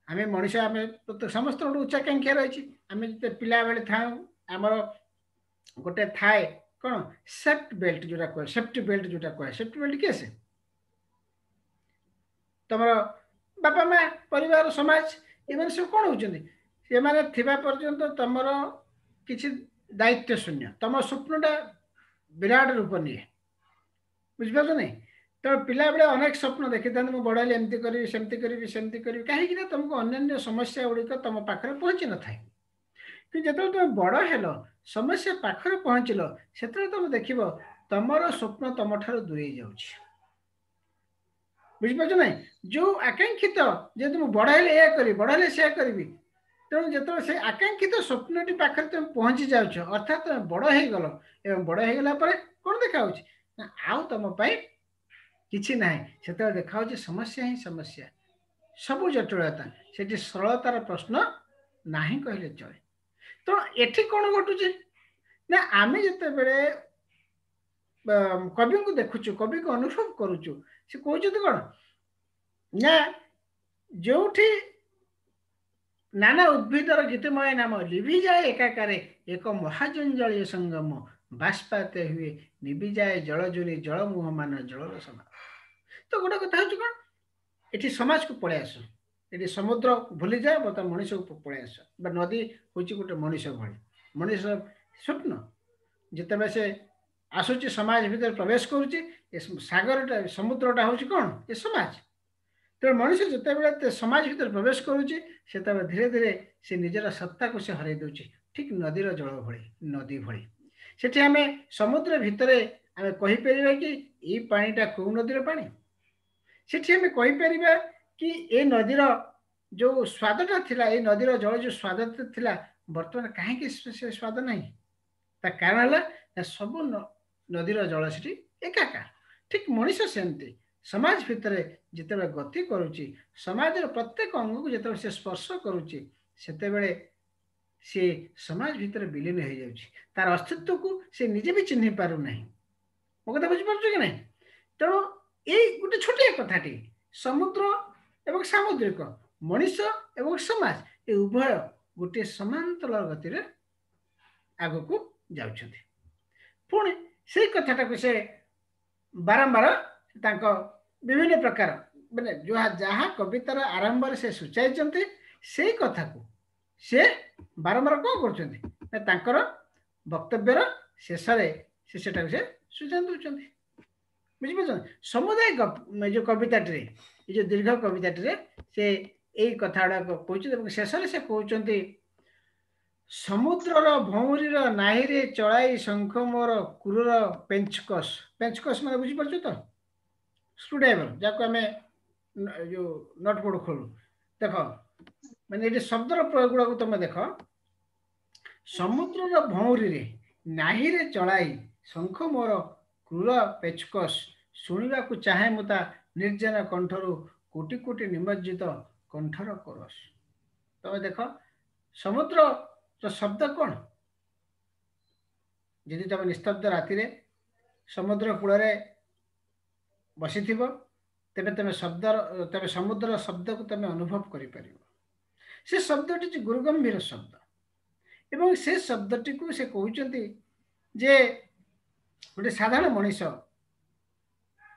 ଆମେ ମଣିଷ, ଆମେ ପ୍ରତ୍ୟେକ ସମସ୍ତଙ୍କର ଉଚ୍ଚାକାଂକ୍ଷା ରହିଛି। ଆମେ ଯେତେ ପିଲାବେଳେ ଥାଉ, ଆମର ଗୋଟେ ଥାଏ କ'ଣ ସେଫ୍ଟ ବେଲ୍ଟ ଯୋଉଟା କୁହେ, ସେଫ୍ଟି ବେଲ୍ଟ ଯୋଉଟା କୁହେ। ସେଫ୍ଟି ବେଲ୍ଟ କିଏ? ସେ ତମର ବାପା ମା, ପରିବାର, ସମାଜ, ଏମାନେ ସବୁ କ'ଣ ହଉଛନ୍ତି? ସେମାନେ ଥିବା ପର୍ଯ୍ୟନ୍ତ ତମର କିଛି ଦାୟିତ୍ୱ ଶୂନ୍ୟ, ତମ ସ୍ୱପ୍ନଟା ବିରାଟ ରୂପ ନିଏ। ବୁଝିପାରୁଛ ନାଇଁ? ତ ପିଲାବେଳେ ଅନେକ ସ୍ୱପ୍ନ ଦେଖିଥାନ୍ତି, ମୁଁ ବଡ଼ ହେଲେ ଏମିତି କରିବି, ସେମିତି କରିବି, ସେମିତି କରିବି। କାହିଁକି ନା ତମକୁ ଅନ୍ୟାନ୍ୟ ସମସ୍ୟା ଗୁଡ଼ିକ ତମ ପାଖରେ ପହଞ୍ଚି ନଥାଏ। କିନ୍ତୁ ଯେତେବେଳେ ତମେ ବଡ଼ ହେଲ, ସମସ୍ୟା ପାଖରେ ପହଞ୍ଚିଲ, ସେତେବେଳେ ତମେ ଦେଖିବ ତମର ସ୍ୱପ୍ନ ତମଠାରୁ ଦୂରେଇ ଯାଉଛି। ବୁଝିପାରୁଛ ନାଇଁ? ଯୋଉ ଆକାଂକ୍ଷିତ, ଯେହେତୁ ମୁଁ ବଡ଼ ହେଲେ ଏଇଆ କରିବି, ବଡ଼ ହେଲେ ସେୟା କରିବି, ତେଣୁ ଯେତେବେଳେ ସେ ଆକାଂକ୍ଷିତ ସ୍ୱପ୍ନଟି ପାଖରେ ତମେ ପହଞ୍ଚି ଯାଉଛ, ଅର୍ଥାତ୍ ତମେ ବଡ଼ ହେଇଗଲ, ଏବଂ ବଡ଼ ହେଇଗଲା ପରେ କ'ଣ ଦେଖାହଉଛି ନା ଆଉ ତମ ପାଇଁ କିଛି ନାହିଁ। ସେତେବେଳେ ଦେଖାହଉଛି ସମସ୍ୟା ହିଁ ସମସ୍ୟା, ସବୁ ଜଟିଳତା। ସେଠି ସରଳତାର ପ୍ରଶ୍ନ ନାହିଁ କହିଲେ ଚଳେ। ତେଣୁ ଏଠି କ'ଣ ଘଟୁଛି ନା ଆମେ ଯେତେବେଳେ କବିଙ୍କୁ ଦେଖୁଛୁ, କବିଙ୍କୁ ଅନୁଭବ କରୁଛୁ, ସେ କହୁଛନ୍ତି କ'ଣ ନା ଯୋଉଠି ନାନା ଉଦ୍ଭିଦର ଗୀତମୟ ନାମ ଲିଭିଯାଏ ଏକାକାରେ ଏକ ମହାଜଞ୍ଜାଳୀୟ ସଙ୍ଗମ, ବାଷ୍ପାତ ହୁଏ ନିଭିଯାଏ ଜଳଜୁନି ଜଳ ମୁହଁମାନ ଜଳର ସମାନ। ତ ଗୋଟେ କଥା ହଉଛି କ'ଣ, ଏଠି ସମାଜକୁ ପଳେଇ ଆସ, ଏଠି ସମୁଦ୍ର ଭୁଲିଯାଏ, ବର୍ତ୍ତମାନ ମଣିଷକୁ ପଳେଇ ଆସ। ବା ନଦୀ ହଉଛି ଗୋଟେ ମଣିଷ ଭଳି, ମଣିଷ ସ୍ୱପ୍ନ ଯେତେବେଳେ ସେ ଆସୁଛି ସମାଜ ଭିତରେ ପ୍ରବେଶ କରୁଛି, ଏ ସାଗରଟା ସମୁଦ୍ରଟା ହଉଛି କ'ଣ, ଏ ସମାଜ। ତେଣୁ ମଣିଷ ଯେତେବେଳେ ସମାଜ ଭିତରେ ପ୍ରବେଶ କରୁଛି, ସେତେବେଳେ ଧୀରେ ଧୀରେ ସେ ନିଜର ସତ୍ତାକୁ ସେ ହରାଇ ଦେଉଛି, ଠିକ୍ ନଦୀର ଜଳ ଭଳି, ନଦୀ ଭଳି। ସେଠି ଆମେ ସମୁଦ୍ର ଭିତରେ ଆମେ କହିପାରିବା କି ଏଇ ପାଣିଟା କେଉଁ ନଦୀର ପାଣି? ସେଠି ଆମେ କହିପାରିବା କି ଏ ନଦୀର ଯୋଉ ସ୍ୱାଦଟା ଥିଲା, ଏଇ ନଦୀର ଜଳ ଯୋଉ ସ୍ୱାଦ ଥିଲା, ବର୍ତ୍ତମାନ କାହିଁକି ସେ ସ୍ୱାଦ ନାହିଁ? ତା କାରଣ ହେଲା ନା ସବୁ ନଦୀର ଜଳ ସେଠି ଏକାକାର। ଠିକ୍ ମଣିଷ ସେମିତି ସମାଜ ଭିତରେ ଯେତେବେଳେ ଗତି କରୁଛି, ସମାଜର ପ୍ରତ୍ୟେକ ଅଙ୍ଗକୁ ଯେତେବେଳେ ସେ ସ୍ପର୍ଶ କରୁଛି, ସେତେବେଳେ ସେ ସମାଜ ଭିତରେ ବିଲୀନ ହେଇଯାଉଛି, ତାର ଅସ୍ତିତ୍ୱକୁ ସେ ନିଜେ ବି ଚିହ୍ନି ପାରୁନାହିଁ। ମୋ କଥା ବୁଝିପାରୁଛ କି ନାହିଁ? ତେଣୁ ଏଇ ଗୋଟେ ଛୋଟିଆ କଥାଟି, ସମୁଦ୍ର ଏବଂ ସାମୁଦ୍ରିକ, ମଣିଷ ଏବଂ ସମାଜ, ଏ ଉଭୟ ଗୋଟିଏ ସମାନ୍ତରାଳ ଗତିରେ ଆଗକୁ ଯାଉଛନ୍ତି। ପୁଣି ସେଇ କଥାଟାକୁ ସେ ବାରମ୍ବାର ତାଙ୍କ ବିଭିନ୍ନ ପ୍ରକାର ମାନେ ଯାହା ଯାହା କବିତାର ଆରମ୍ଭରେ ସେ ସୂଚାଇଛନ୍ତି, ସେଇ କଥାକୁ ସେ ବାରମ୍ବାର କ'ଣ କରୁଛନ୍ତି ନା ତାଙ୍କର ବକ୍ତବ୍ୟର ଶେଷରେ ସେ ସେଟାକୁ ସେ ସୂଚନା ଦେଉଛନ୍ତି। ବୁଝିପାରୁଛନ୍ତି? ସମୁଦାୟ ଏ ଯୋଉ କବିତାଟିରେ, ଏ ଯୋଉ ଦୀର୍ଘ କବିତାଟିରେ ସେ ଏଇ କଥା ଗୁଡ଼ାକ କହୁଛନ୍ତି। ଏବଂ ଶେଷରେ ସେ କହୁଛନ୍ତି, ସମୁଦ୍ରର ଭଉଁରୀର ନାହିରେ ଚଳାଇ ଶଙ୍ଖ ମୋର କ୍ରୂର ପେଞ୍ଚକସ। ପେଞ୍ଚକସ ମାନେ ବୁଝିପାରୁଛ ତ? ସ୍କ୍ରୁଡ୍ରାଇଭର, ଯାହାକୁ ଆମେ ଯୋଉ ନଟ୍ ବୋଲ୍ଟ ଖୋଲୁ। ଦେଖ, ମାନେ ଏଠି ଶବ୍ଦର ପ୍ରୟୋଗ ଗୁଡ଼ାକୁ ତମେ ଦେଖ। ସମୁଦ୍ରର ଭଉଁରୀରେ ନାହିରେ ଚଳାଇ ଶଙ୍ଖ ମୋର କ୍ରୂର ପେଚକସ, ଶୁଣିବାକୁ ଚାହେଁ ମୁଁ ତା ନିର୍ଜନ କଣ୍ଠରୁ କୋଟି କୋଟି ନିମଜ୍ଜିତ କଣ୍ଠର କୋରସ। ତମେ ଦେଖ, ସମୁଦ୍ରର ଶବ୍ଦ କ'ଣ? ଯଦି ତମେ ନିସ୍ତବ୍ଧ ରାତିରେ ସମୁଦ୍ର କୂଳରେ ବସିଥିବ, ତେବେ ତମେ ଶବ୍ଦର ତେବେ ସମୁଦ୍ରର ଶବ୍ଦକୁ ତମେ ଅନୁଭବ କରିପାରିବ। ସେ ଶବ୍ଦଟି ହେଉଛି ଗୁରୁଗମ୍ଭୀର ଶବ୍ଦ। ଏବଂ ସେ ଶବ୍ଦଟିକୁ ସେ କହୁଛନ୍ତି ଯେ ଗୋଟେ ସାଧାରଣ ମଣିଷ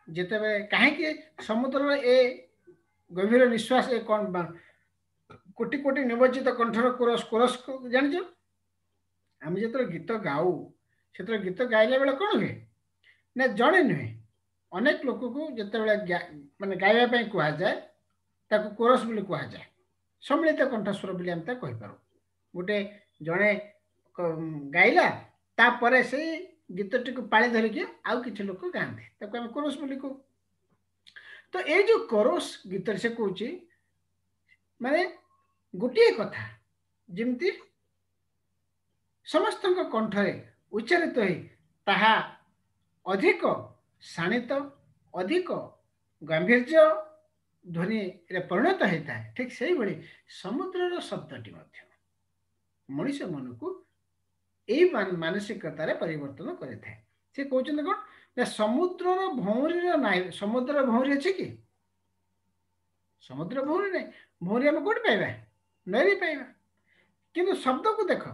ଯେତେବେଳେ କାହିଁକି ସମୁଦ୍ରର ଏ ଗଭୀର ନିଶ୍ୱାସ, ଏ କ'ଣ କୋଟି କୋଟି ନିମଜ୍ଜିତ କଣ୍ଠର କୋରସ? କୋରସ ଜାଣିଛ? ଆମେ ଯେତେବେଳେ ଗୀତ ଗାଉ, ସେତେବେଳେ ଗୀତ ଗାଇଲା ବେଳେ କ'ଣ ହୁଏ ନା ଜଣେ ନୁହେଁ, ଅନେକ ଲୋକକୁ ଯେତେବେଳେ ମାନେ ଗାଇବା ପାଇଁ କୁହାଯାଏ, ତାକୁ କୋରସ ବୋଲି କୁହାଯାଏ। ସମ୍ମିଳିତ କଣ୍ଠସ୍ୱର ବୋଲି ଆମେ ତାକୁ କହିପାରୁ। ଗୋଟେ ଜଣେ ଗାଇଲା, ତାପରେ ସେଇ ଗୀତଟିକୁ ପାଳି ଧରିକି ଆଉ କିଛି ଲୋକ ଗାଆନ୍ତି, ତାକୁ ଆମେ କୋରସ ବୋଲି କହୁ। ତ ଏଇ ଯୋଉ କୋରସ ଗୀତରେ ସେ କହୁଛି, ମାନେ ଗୋଟିଏ କଥା ଯେମିତି ସମସ୍ତଙ୍କ କଣ୍ଠରେ ଉଚ୍ଚାରିତ ହୋଇ ତାହା ଅଧିକ ଶାଣିତ, ଅଧିକ ଗାମ୍ଭୀର୍ଯ୍ୟ ଧ୍ୱନିରେ ପରିଣତ ହେଇଥାଏ, ଠିକ୍ ସେଇଭଳି ସମୁଦ୍ରର ଶବ୍ଦଟି ମଧ୍ୟ ମଣିଷ ମନକୁ ଏଇ ମାନସିକତାରେ ପରିବର୍ତ୍ତନ କରିଥାଏ। ସେ କହୁଛନ୍ତି କ'ଣ ନା ସମୁଦ୍ରର ଭଉଁରୀର ନାହିଁ। ସମୁଦ୍ରର ଭଉଁରୀ ଅଛି କି? ସମୁଦ୍ର ଭଉଁରୀ ନାହିଁ। ଭଉଁରୀ ଆମେ କୋଉଠି ପାଇବା? ନଈରେ ପାଇବା। କିନ୍ତୁ ଶବ୍ଦକୁ ଦେଖ,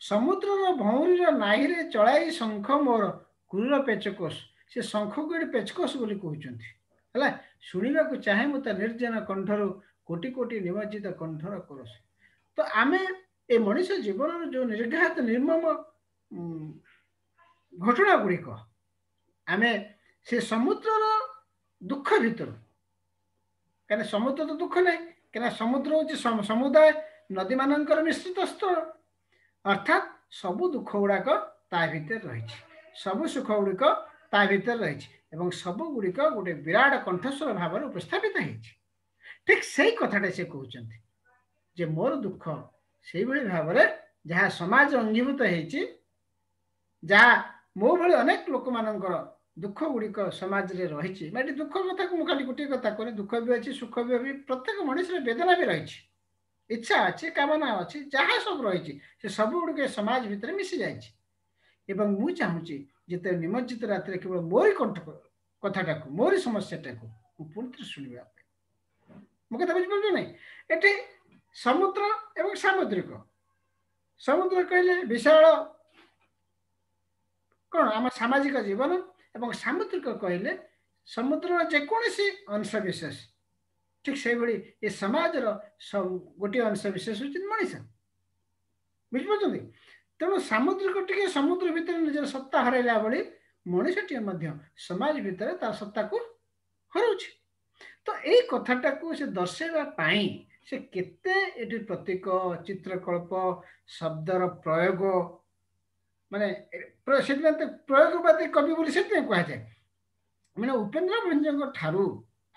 ସମୁଦ୍ରର ଭଉଁରୀର ନାହିରେ ଚଳାଇ ଶଙ୍ଖ ମୋର କ୍ରୂର ପେଚକୋଷ। ସେ ଶଙ୍ଖକୁ ଏଠି ପେଚକୋଷ ବୋଲି କହୁଛନ୍ତି। ହେଲା, ଶୁଣିବାକୁ ଚାହେଁ ମୁଁ ତା ନିର୍ଜନ କଣ୍ଠରୁ କୋଟି କୋଟି ନିମଜ୍ଜିତ କଣ୍ଠର କୋରସ। ତ ଆମେ ଏ ମଣିଷ ଜୀବନର ଯୋଉ ନିର୍ଘାତ ନିର୍ମମ ଘଟଣା ଗୁଡ଼ିକ, ଆମେ ସେ ସମୁଦ୍ରର ଦୁଃଖ ଭିତରୁ, କାହିଁକିନା ସମୁଦ୍ର ତ ଦୁଃଖ ନାହିଁ, କାହିଁକିନା ସମୁଦ୍ର ହେଉଛି ସମୁଦାୟ ନଦୀମାନଙ୍କର ମିଶ୍ରିତ ସ୍ଥଳ। ଅର୍ଥାତ୍ ସବୁ ଦୁଃଖ ଗୁଡ଼ାକ ତା ଭିତରେ ରହିଛି, ସବୁ ସୁଖ ଗୁଡ଼ିକ ତା ଭିତରେ ରହିଛି ଏବଂ ସବୁ ଗୁଡ଼ିକ ଗୋଟେ ବିରାଟ କଣ୍ଠସ୍ୱର ଭାବରେ ଉପସ୍ଥାପିତ ହେଇଛି। ଠିକ ସେଇ କଥାଟା ସେ କହୁଛନ୍ତି ଯେ ମୋର ଦୁଃଖ ସେଇଭଳି ଭାବରେ ଯାହା ସମାଜ ଅଙ୍ଗୀଭୂତ ହେଇଛି, ଯାହା ମୋ ଭଳି ଅନେକ ଲୋକମାନଙ୍କର ଦୁଃଖ ଗୁଡ଼ିକ ସମାଜରେ ରହିଛି। ଏଠି ଦୁଃଖ କଥାକୁ ମୁଁ ଖାଲି ଗୋଟିଏ କଥା କହୁନି, ଦୁଃଖ ବି ଅଛି, ସୁଖ ବି ଅଛି, ପ୍ରତ୍ୟେକ ମଣିଷର ବେଦନା ବି ରହିଛି, ଇଚ୍ଛା ଅଛି, କାମନା ଅଛି, ଯାହା ସବୁ ରହିଛି ସେ ସବୁ ଗୁଡ଼ିକ ସମାଜ ଭିତରେ ମିଶି ଯାଇଛି। ଏବଂ ମୁଁ ଚାହୁଁଛି ଯେତେବେଳେ ନିମଜ୍ଜିତ ରାତିରେ କେବଳ ମୋରି କଣ୍ଠ କଥାଟାକୁ, ମୋରି ସମସ୍ୟାଟାକୁ ମୁଁ ପୁଣି ଥରେ ଶୁଣିବା ପାଇଁ। ମୋ କଥା ବୁଝିପାରୁଛ ନାଇଁ? ଏଠି ସମୁଦ୍ର ଏବଂ ସାମୁଦ୍ରିକ, ସମୁଦ୍ର କହିଲେ ବିଶାଳ କ'ଣ ଆମ ସାମାଜିକ ଜୀବନ, ଏବଂ ସାମୁଦ୍ରିକ କହିଲେ ସମୁଦ୍ରର ଯେକୌଣସି ଅଂଶ ବିଶେଷ। ଠିକ ସେଇଭଳି ଏ ସମାଜର ଗୋଟିଏ ଅଂଶ ବିଶେଷ ହେଉଛି ମଣିଷ। ବୁଝିପାରୁଛନ୍ତି? ତେଣୁ ସାମୁଦ୍ରିକ ଟିକେ ସମୁଦ୍ର ଭିତରେ ନିଜର ସତ୍ତା ହରାଇଲା ଭଳି ମଣିଷଟିଏ ମଧ୍ୟ ସମାଜ ଭିତରେ ତାର ସତ୍ତାକୁ ହରାଉଛି। ତ ଏଇ କଥାଟାକୁ ସେ ଦର୍ଶାଇବା ପାଇଁ ସେ କେତେ ଏଠି ପ୍ରତୀକ, ଚିତ୍ରକଳ୍ପ, ଶବ୍ଦର ପ୍ରୟୋଗ, ମାନେ ସେଥିପାଇଁ ତ ପ୍ରୟୋଗବାଦୀ କବି ବୋଲି ସେଥିପାଇଁ କୁହାଯାଏ। ମାନେ ଉପେନ୍ଦ୍ର ଭଞ୍ଜଙ୍କ ଠାରୁ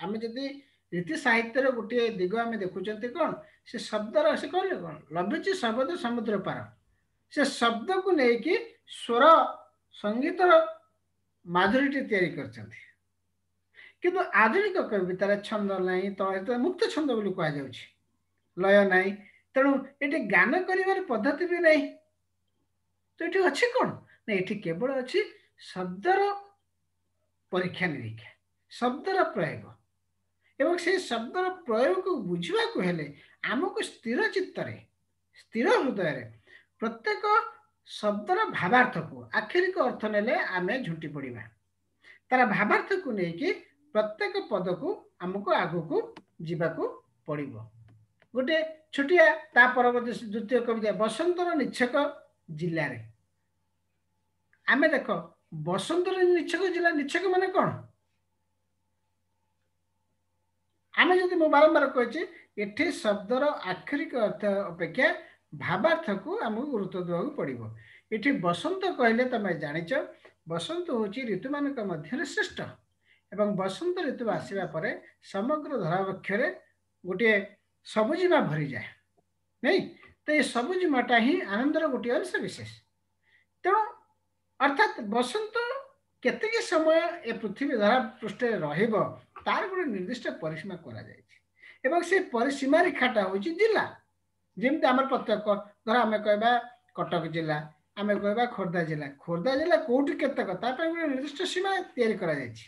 ଆମେ ଯଦି ରୀତି ସାହିତ୍ୟର ଗୋଟିଏ ଦିଗ ଆମେ ଦେଖୁଛନ୍ତି କ'ଣ, ସେ ଶବ୍ଦର, ସେ କହିଲେ କ'ଣ ଲଭିଛି ଶବ୍ଦ ସମୁଦ୍ର ପାର, ସେ ଶବ୍ଦକୁ ନେଇକି ସ୍ୱର ସଙ୍ଗୀତର ମାଧୁରୀଟି ତିଆରି କରିଛନ୍ତି। କିନ୍ତୁ ଆଧୁନିକ କବିତାରେ ଛନ୍ଦ ନାହିଁ, ତ ମୁକ୍ତ ଛନ୍ଦ ବୋଲି କୁହାଯାଉଛି, ଲୟ ନାହିଁ, ତେଣୁ ଏଠି ଗାନ କରିବାର ପଦ୍ଧତି ବି ନାହିଁ। ତ ଏଠି ଅଛି କ'ଣ ନା ଏଠି କେବଳ ଅଛି ଶବ୍ଦର ପରୀକ୍ଷା ନିରୀକ୍ଷା, ଶବ୍ଦର ପ୍ରୟୋଗ। ଏବଂ ସେଇ ଶବ୍ଦର ପ୍ରୟୋଗକୁ ବୁଝିବାକୁ ହେଲେ ଆମକୁ ସ୍ଥିର ଚିତ୍ତରେ, ସ୍ଥିର ହୃଦୟରେ ପ୍ରତ୍ୟେକ ଶବ୍ଦର ଭାବାର୍ଥକୁ, ଆକ୍ଷରିକ ଅର୍ଥ ନେଲେ ଆମେ ଝୁଣ୍ଟି ପଡ଼ିବା, ତାର ଭାବାର୍ଥକୁ ନେଇକି ପ୍ରତ୍ୟେକ ପଦକୁ ଆମକୁ ଆଗକୁ ଯିବାକୁ ପଡ଼ିବ। ଗୋଟେ ଛୋଟିଆ ତା ପରବର୍ତ୍ତୀ ଦ୍ୱିତୀୟ କବିତା ବସନ୍ତର ନିଚ୍ଛକ ଜିଲ୍ଲାରେ। ଆମେ ଦେଖ ବସନ୍ତର ନିଚ୍ଛକ ଜିଲ୍ଲା, ନିଚ୍ଛକ ମାନେ କ'ଣ? ଆମେ ଯଦି, ମୁଁ ବାରମ୍ବାର କହିଛି ଏଠି ଶବ୍ଦର ଆକ୍ଷରିକ ଅର୍ଥ ଅପେକ୍ଷା ଭାବାର୍ଥକୁ ଆମକୁ ଗୁରୁତ୍ୱ ଦେବାକୁ ପଡ଼ିବ। ଏଠି ବସନ୍ତ କହିଲେ ତମେ ଜାଣିଛ ବସନ୍ତ ହେଉଛି ଋତୁମାନଙ୍କ ମଧ୍ୟରେ ଶ୍ରେଷ୍ଠ, ଏବଂ ବସନ୍ତ ଋତୁ ଆସିବା ପରେ ସମଗ୍ର ଧରାବକ୍ଷରେ ଗୋଟିଏ ସବୁଜିମା ଭରିଯାଏ ନାଇଁ? ତ ଏ ସବୁଜିମାଟା ହିଁ ଆନନ୍ଦର ଗୋଟିଏ ଅଂଶ ବିଶେଷ। ତେଣୁ ଅର୍ଥାତ୍ ବସନ୍ତ କେତିକି ସମୟ ଏ ପୃଥିବୀ ଧରା ପୃଷ୍ଠରେ ରହିବ ତାର ଗୋଟେ ନିର୍ଦ୍ଦିଷ୍ଟ ପରିସୀମା କରାଯାଇଛି, ଏବଂ ସେ ପରିସୀମା ରେଖାଟା ହେଉଛି ଜିଲ୍ଲା। ଯେମିତି ଆମର ପ୍ରତ୍ୟେକ, ଧର ଆମେ କହିବା କଟକ ଜିଲ୍ଲା, ଆମେ କହିବା ଖୋର୍ଦ୍ଧା ଜିଲ୍ଲା, ଖୋର୍ଦ୍ଧା ଜିଲ୍ଲା କୋଉଠି କେତେକ ତା ପାଇଁ ଗୋଟେ ନିର୍ଦ୍ଦିଷ୍ଟ ସୀମା ତିଆରି କରାଯାଇଛି।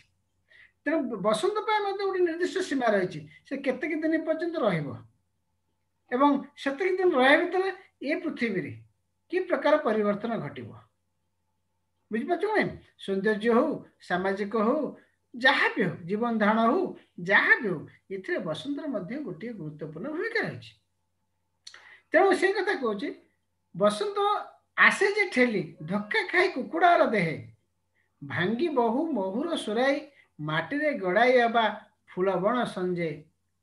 ତେଣୁ ବସନ୍ତ ପାଇଁ ମଧ୍ୟ ଗୋଟେ ନିର୍ଦ୍ଦିଷ୍ଟ ସୀମା ରହିଛି, ସେ କେତିକି ଦିନ ପର୍ଯ୍ୟନ୍ତ ରହିବ ଏବଂ ସେତିକି ଦିନ ରହିବା ଭିତରେ ଏ ପୃଥିବୀରେ କି ପ୍ରକାର ପରିବର୍ତ୍ତନ ଘଟିବ। ବୁଝିପାରୁଛୁ ନାଇଁ? ସୌନ୍ଦର୍ଯ୍ୟ ହଉ, ସାମାଜିକ ହଉ, ଯାହା ବି ହଉ, ଜୀବନ ଧାରଣ ହଉ, ଯାହା ବି ହଉ, ଏଥିରେ ବସନ୍ତର ମଧ୍ୟ ଗୋଟିଏ ଗୁରୁତ୍ୱପୂର୍ଣ୍ଣ ଭୂମିକା ରହିଛି। ତେଣୁ ସେ କଥା କହୁଛି, ବସନ୍ତ ଆସେ ଯେ ଠେଲି ଧକ୍କା ଖାଇ କୁକୁଡ଼ାର ଦେହେ, ଭାଙ୍ଗି ବହୁ ମହୁର ସୁରାଇ ମାଟିରେ ଗଡ଼ାଇ ହେବା ଫୁଲ ବଣ ସଞ୍ଜେ।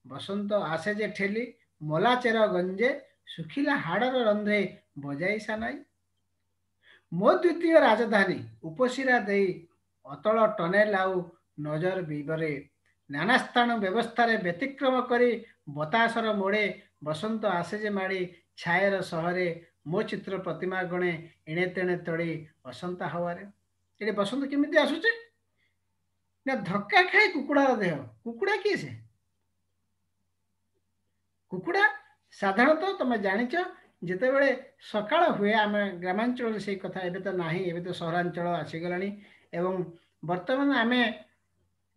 ବସନ୍ତ ଆସେ ଯେ ଠେଲି ମଲା ଚେର ଗଞ୍ଜେ, ଶୁଖିଲା ହାଡ଼ର ରନ୍ଧ୍ରେ ବଜାଇ ସାନାଇ। ମୋ ଦ୍ୱିତୀୟ ରାଜଧାନୀ ଉପଶିରା ଦେଇ ଅତଳ ଟନେଲ ଆଉ ନଜର ବିବରେ, ନାନା ସ୍ଥାନ ବ୍ୟବସ୍ଥାରେ ବ୍ୟତିକ୍ରମ କରି ବତାସର ମୋଡ଼େ ବସନ୍ତ ଆସେ ଯେ ମାଡ଼ି ଛାୟାର ସହରେ, ମୋ ଚିତ୍ର ପ୍ରତିମା ଗଣେ ଏଣେ ତେଣେ ତଳି ବସନ୍ତ ହାୱାରେ। ଏଠି ବସନ୍ତ କେମିତି ଆସୁଛି ନା ଧକ୍କା ଖାଇ କୁକୁଡ଼ାର ଦେହ। କୁକୁଡ଼ା କିଏ ସେ? କୁକୁଡ଼ା ସାଧାରଣତଃ ତମେ ଜାଣିଛ ଯେତେବେଳେ ସକାଳ ହୁଏ, ଆମେ ଗ୍ରାମାଞ୍ଚଳରେ ସେଇ କଥା ଏବେ ତ ନାହିଁ, ଏବେ ତ ସହରାଞ୍ଚଳ ଆସିଗଲାଣି ଏବଂ ବର୍ତ୍ତମାନ ଆମେ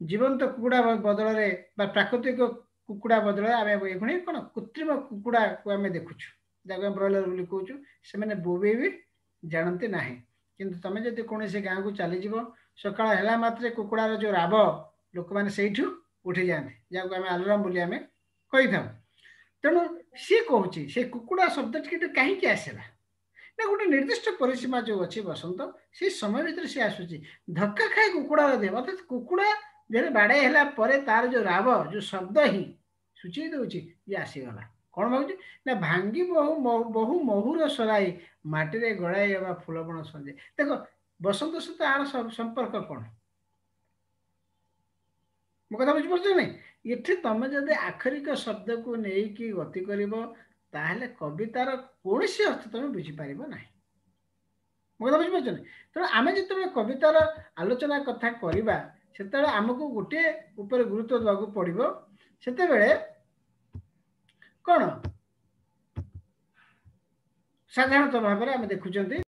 ଜୀବନ୍ତ କୁକୁଡ଼ା ବଦଳରେ ବା ପ୍ରାକୃତିକ କୁକୁଡ଼ା ବଦଳରେ ଆମେ ଏଇଖୁଣି କ'ଣ କୃତ୍ରିମ କୁକୁଡ଼ାକୁ ଆମେ ଦେଖୁଛୁ, ଯାହାକୁ ଆମେ ବ୍ରଏଲର ବୋଲି କହୁଛୁ। ସେମାନେ ବୋବେଇ ବି ଜାଣନ୍ତି ନାହିଁ, କିନ୍ତୁ ତମେ ଯଦି କୌଣସି ଗାଁକୁ ଚାଲିଯିବ, ସକାଳ ହେଲା ମାତ୍ରେ କୁକୁଡ଼ାର ଯେଉଁ ରାବ, ଲୋକମାନେ ସେଇଠୁ ଉଠିଯାଆନ୍ତି, ଯାହାକୁ ଆମେ ଆଲାରାମ ବୋଲି ଆମେ କହିଥାଉ। ତେଣୁ ସିଏ କହୁଛି ସେ କୁକୁଡ଼ା ଶବ୍ଦଟି କାହିଁକି ଆସିଲା ନା ଗୋଟେ ନିର୍ଦ୍ଦିଷ୍ଟ ପରିସୀମା ଯେଉଁ ଅଛି ବସନ୍ତ, ସେଇ ସମୟ ଭିତରେ ସିଏ ଆସୁଛି ଧକ୍କା ଖାଇ କୁକୁଡ଼ାର ଦେହ, ଅର୍ଥାତ୍ କୁକୁଡ଼ା ଦେହରେ ବାଡ଼େଇ ହେଲା ପରେ ତାର ଯେଉଁ ରାବ, ଯେଉଁ ଶବ୍ଦ ହିଁ ସୂଚେଇ ଦେଉଛି ଯେ ଆସିଗଲା। କ'ଣ ଭାବୁଛି ନା ଭାଙ୍ଗି ବହୁ ବହୁ ମହୁର ସରାଇ ମାଟିରେ ଗଡ଼ାଇ ହେବା ଫୁଲବଣ ସଞ୍ଜେ। ଦେଖ ବସନ୍ତ ସହିତ ଆର ସମ୍ପର୍କ କ'ଣ? ମୋ କଥା ବୁଝିପାରୁଛ ନାଇଁ? ଏଠି ତମେ ଯଦି ଆକ୍ଷରିକ ଶବ୍ଦକୁ ନେଇକି ଗତି କରିବ, ତାହେଲେ କବିତାର କୌଣସି ଅର୍ଥ ତମେ ବୁଝିପାରିବ ନାହିଁ। ମୋ କଥା ବୁଝିପାରୁଛ? ତେଣୁ ଆମେ ଯେତେବେଳେ କବିତାର ଆଲୋଚନା କଥା କରିବା, ସେତେବେଳେ ଆମକୁ ଗୋଟିଏ ଉପରେ ଗୁରୁତ୍ୱ ଦେବାକୁ ପଡ଼ିବ। ସେତେବେଳେ କ'ଣ ସାଧାରଣତଃ ଭାବରେ ଆମେ ଦେଖୁଛନ୍ତି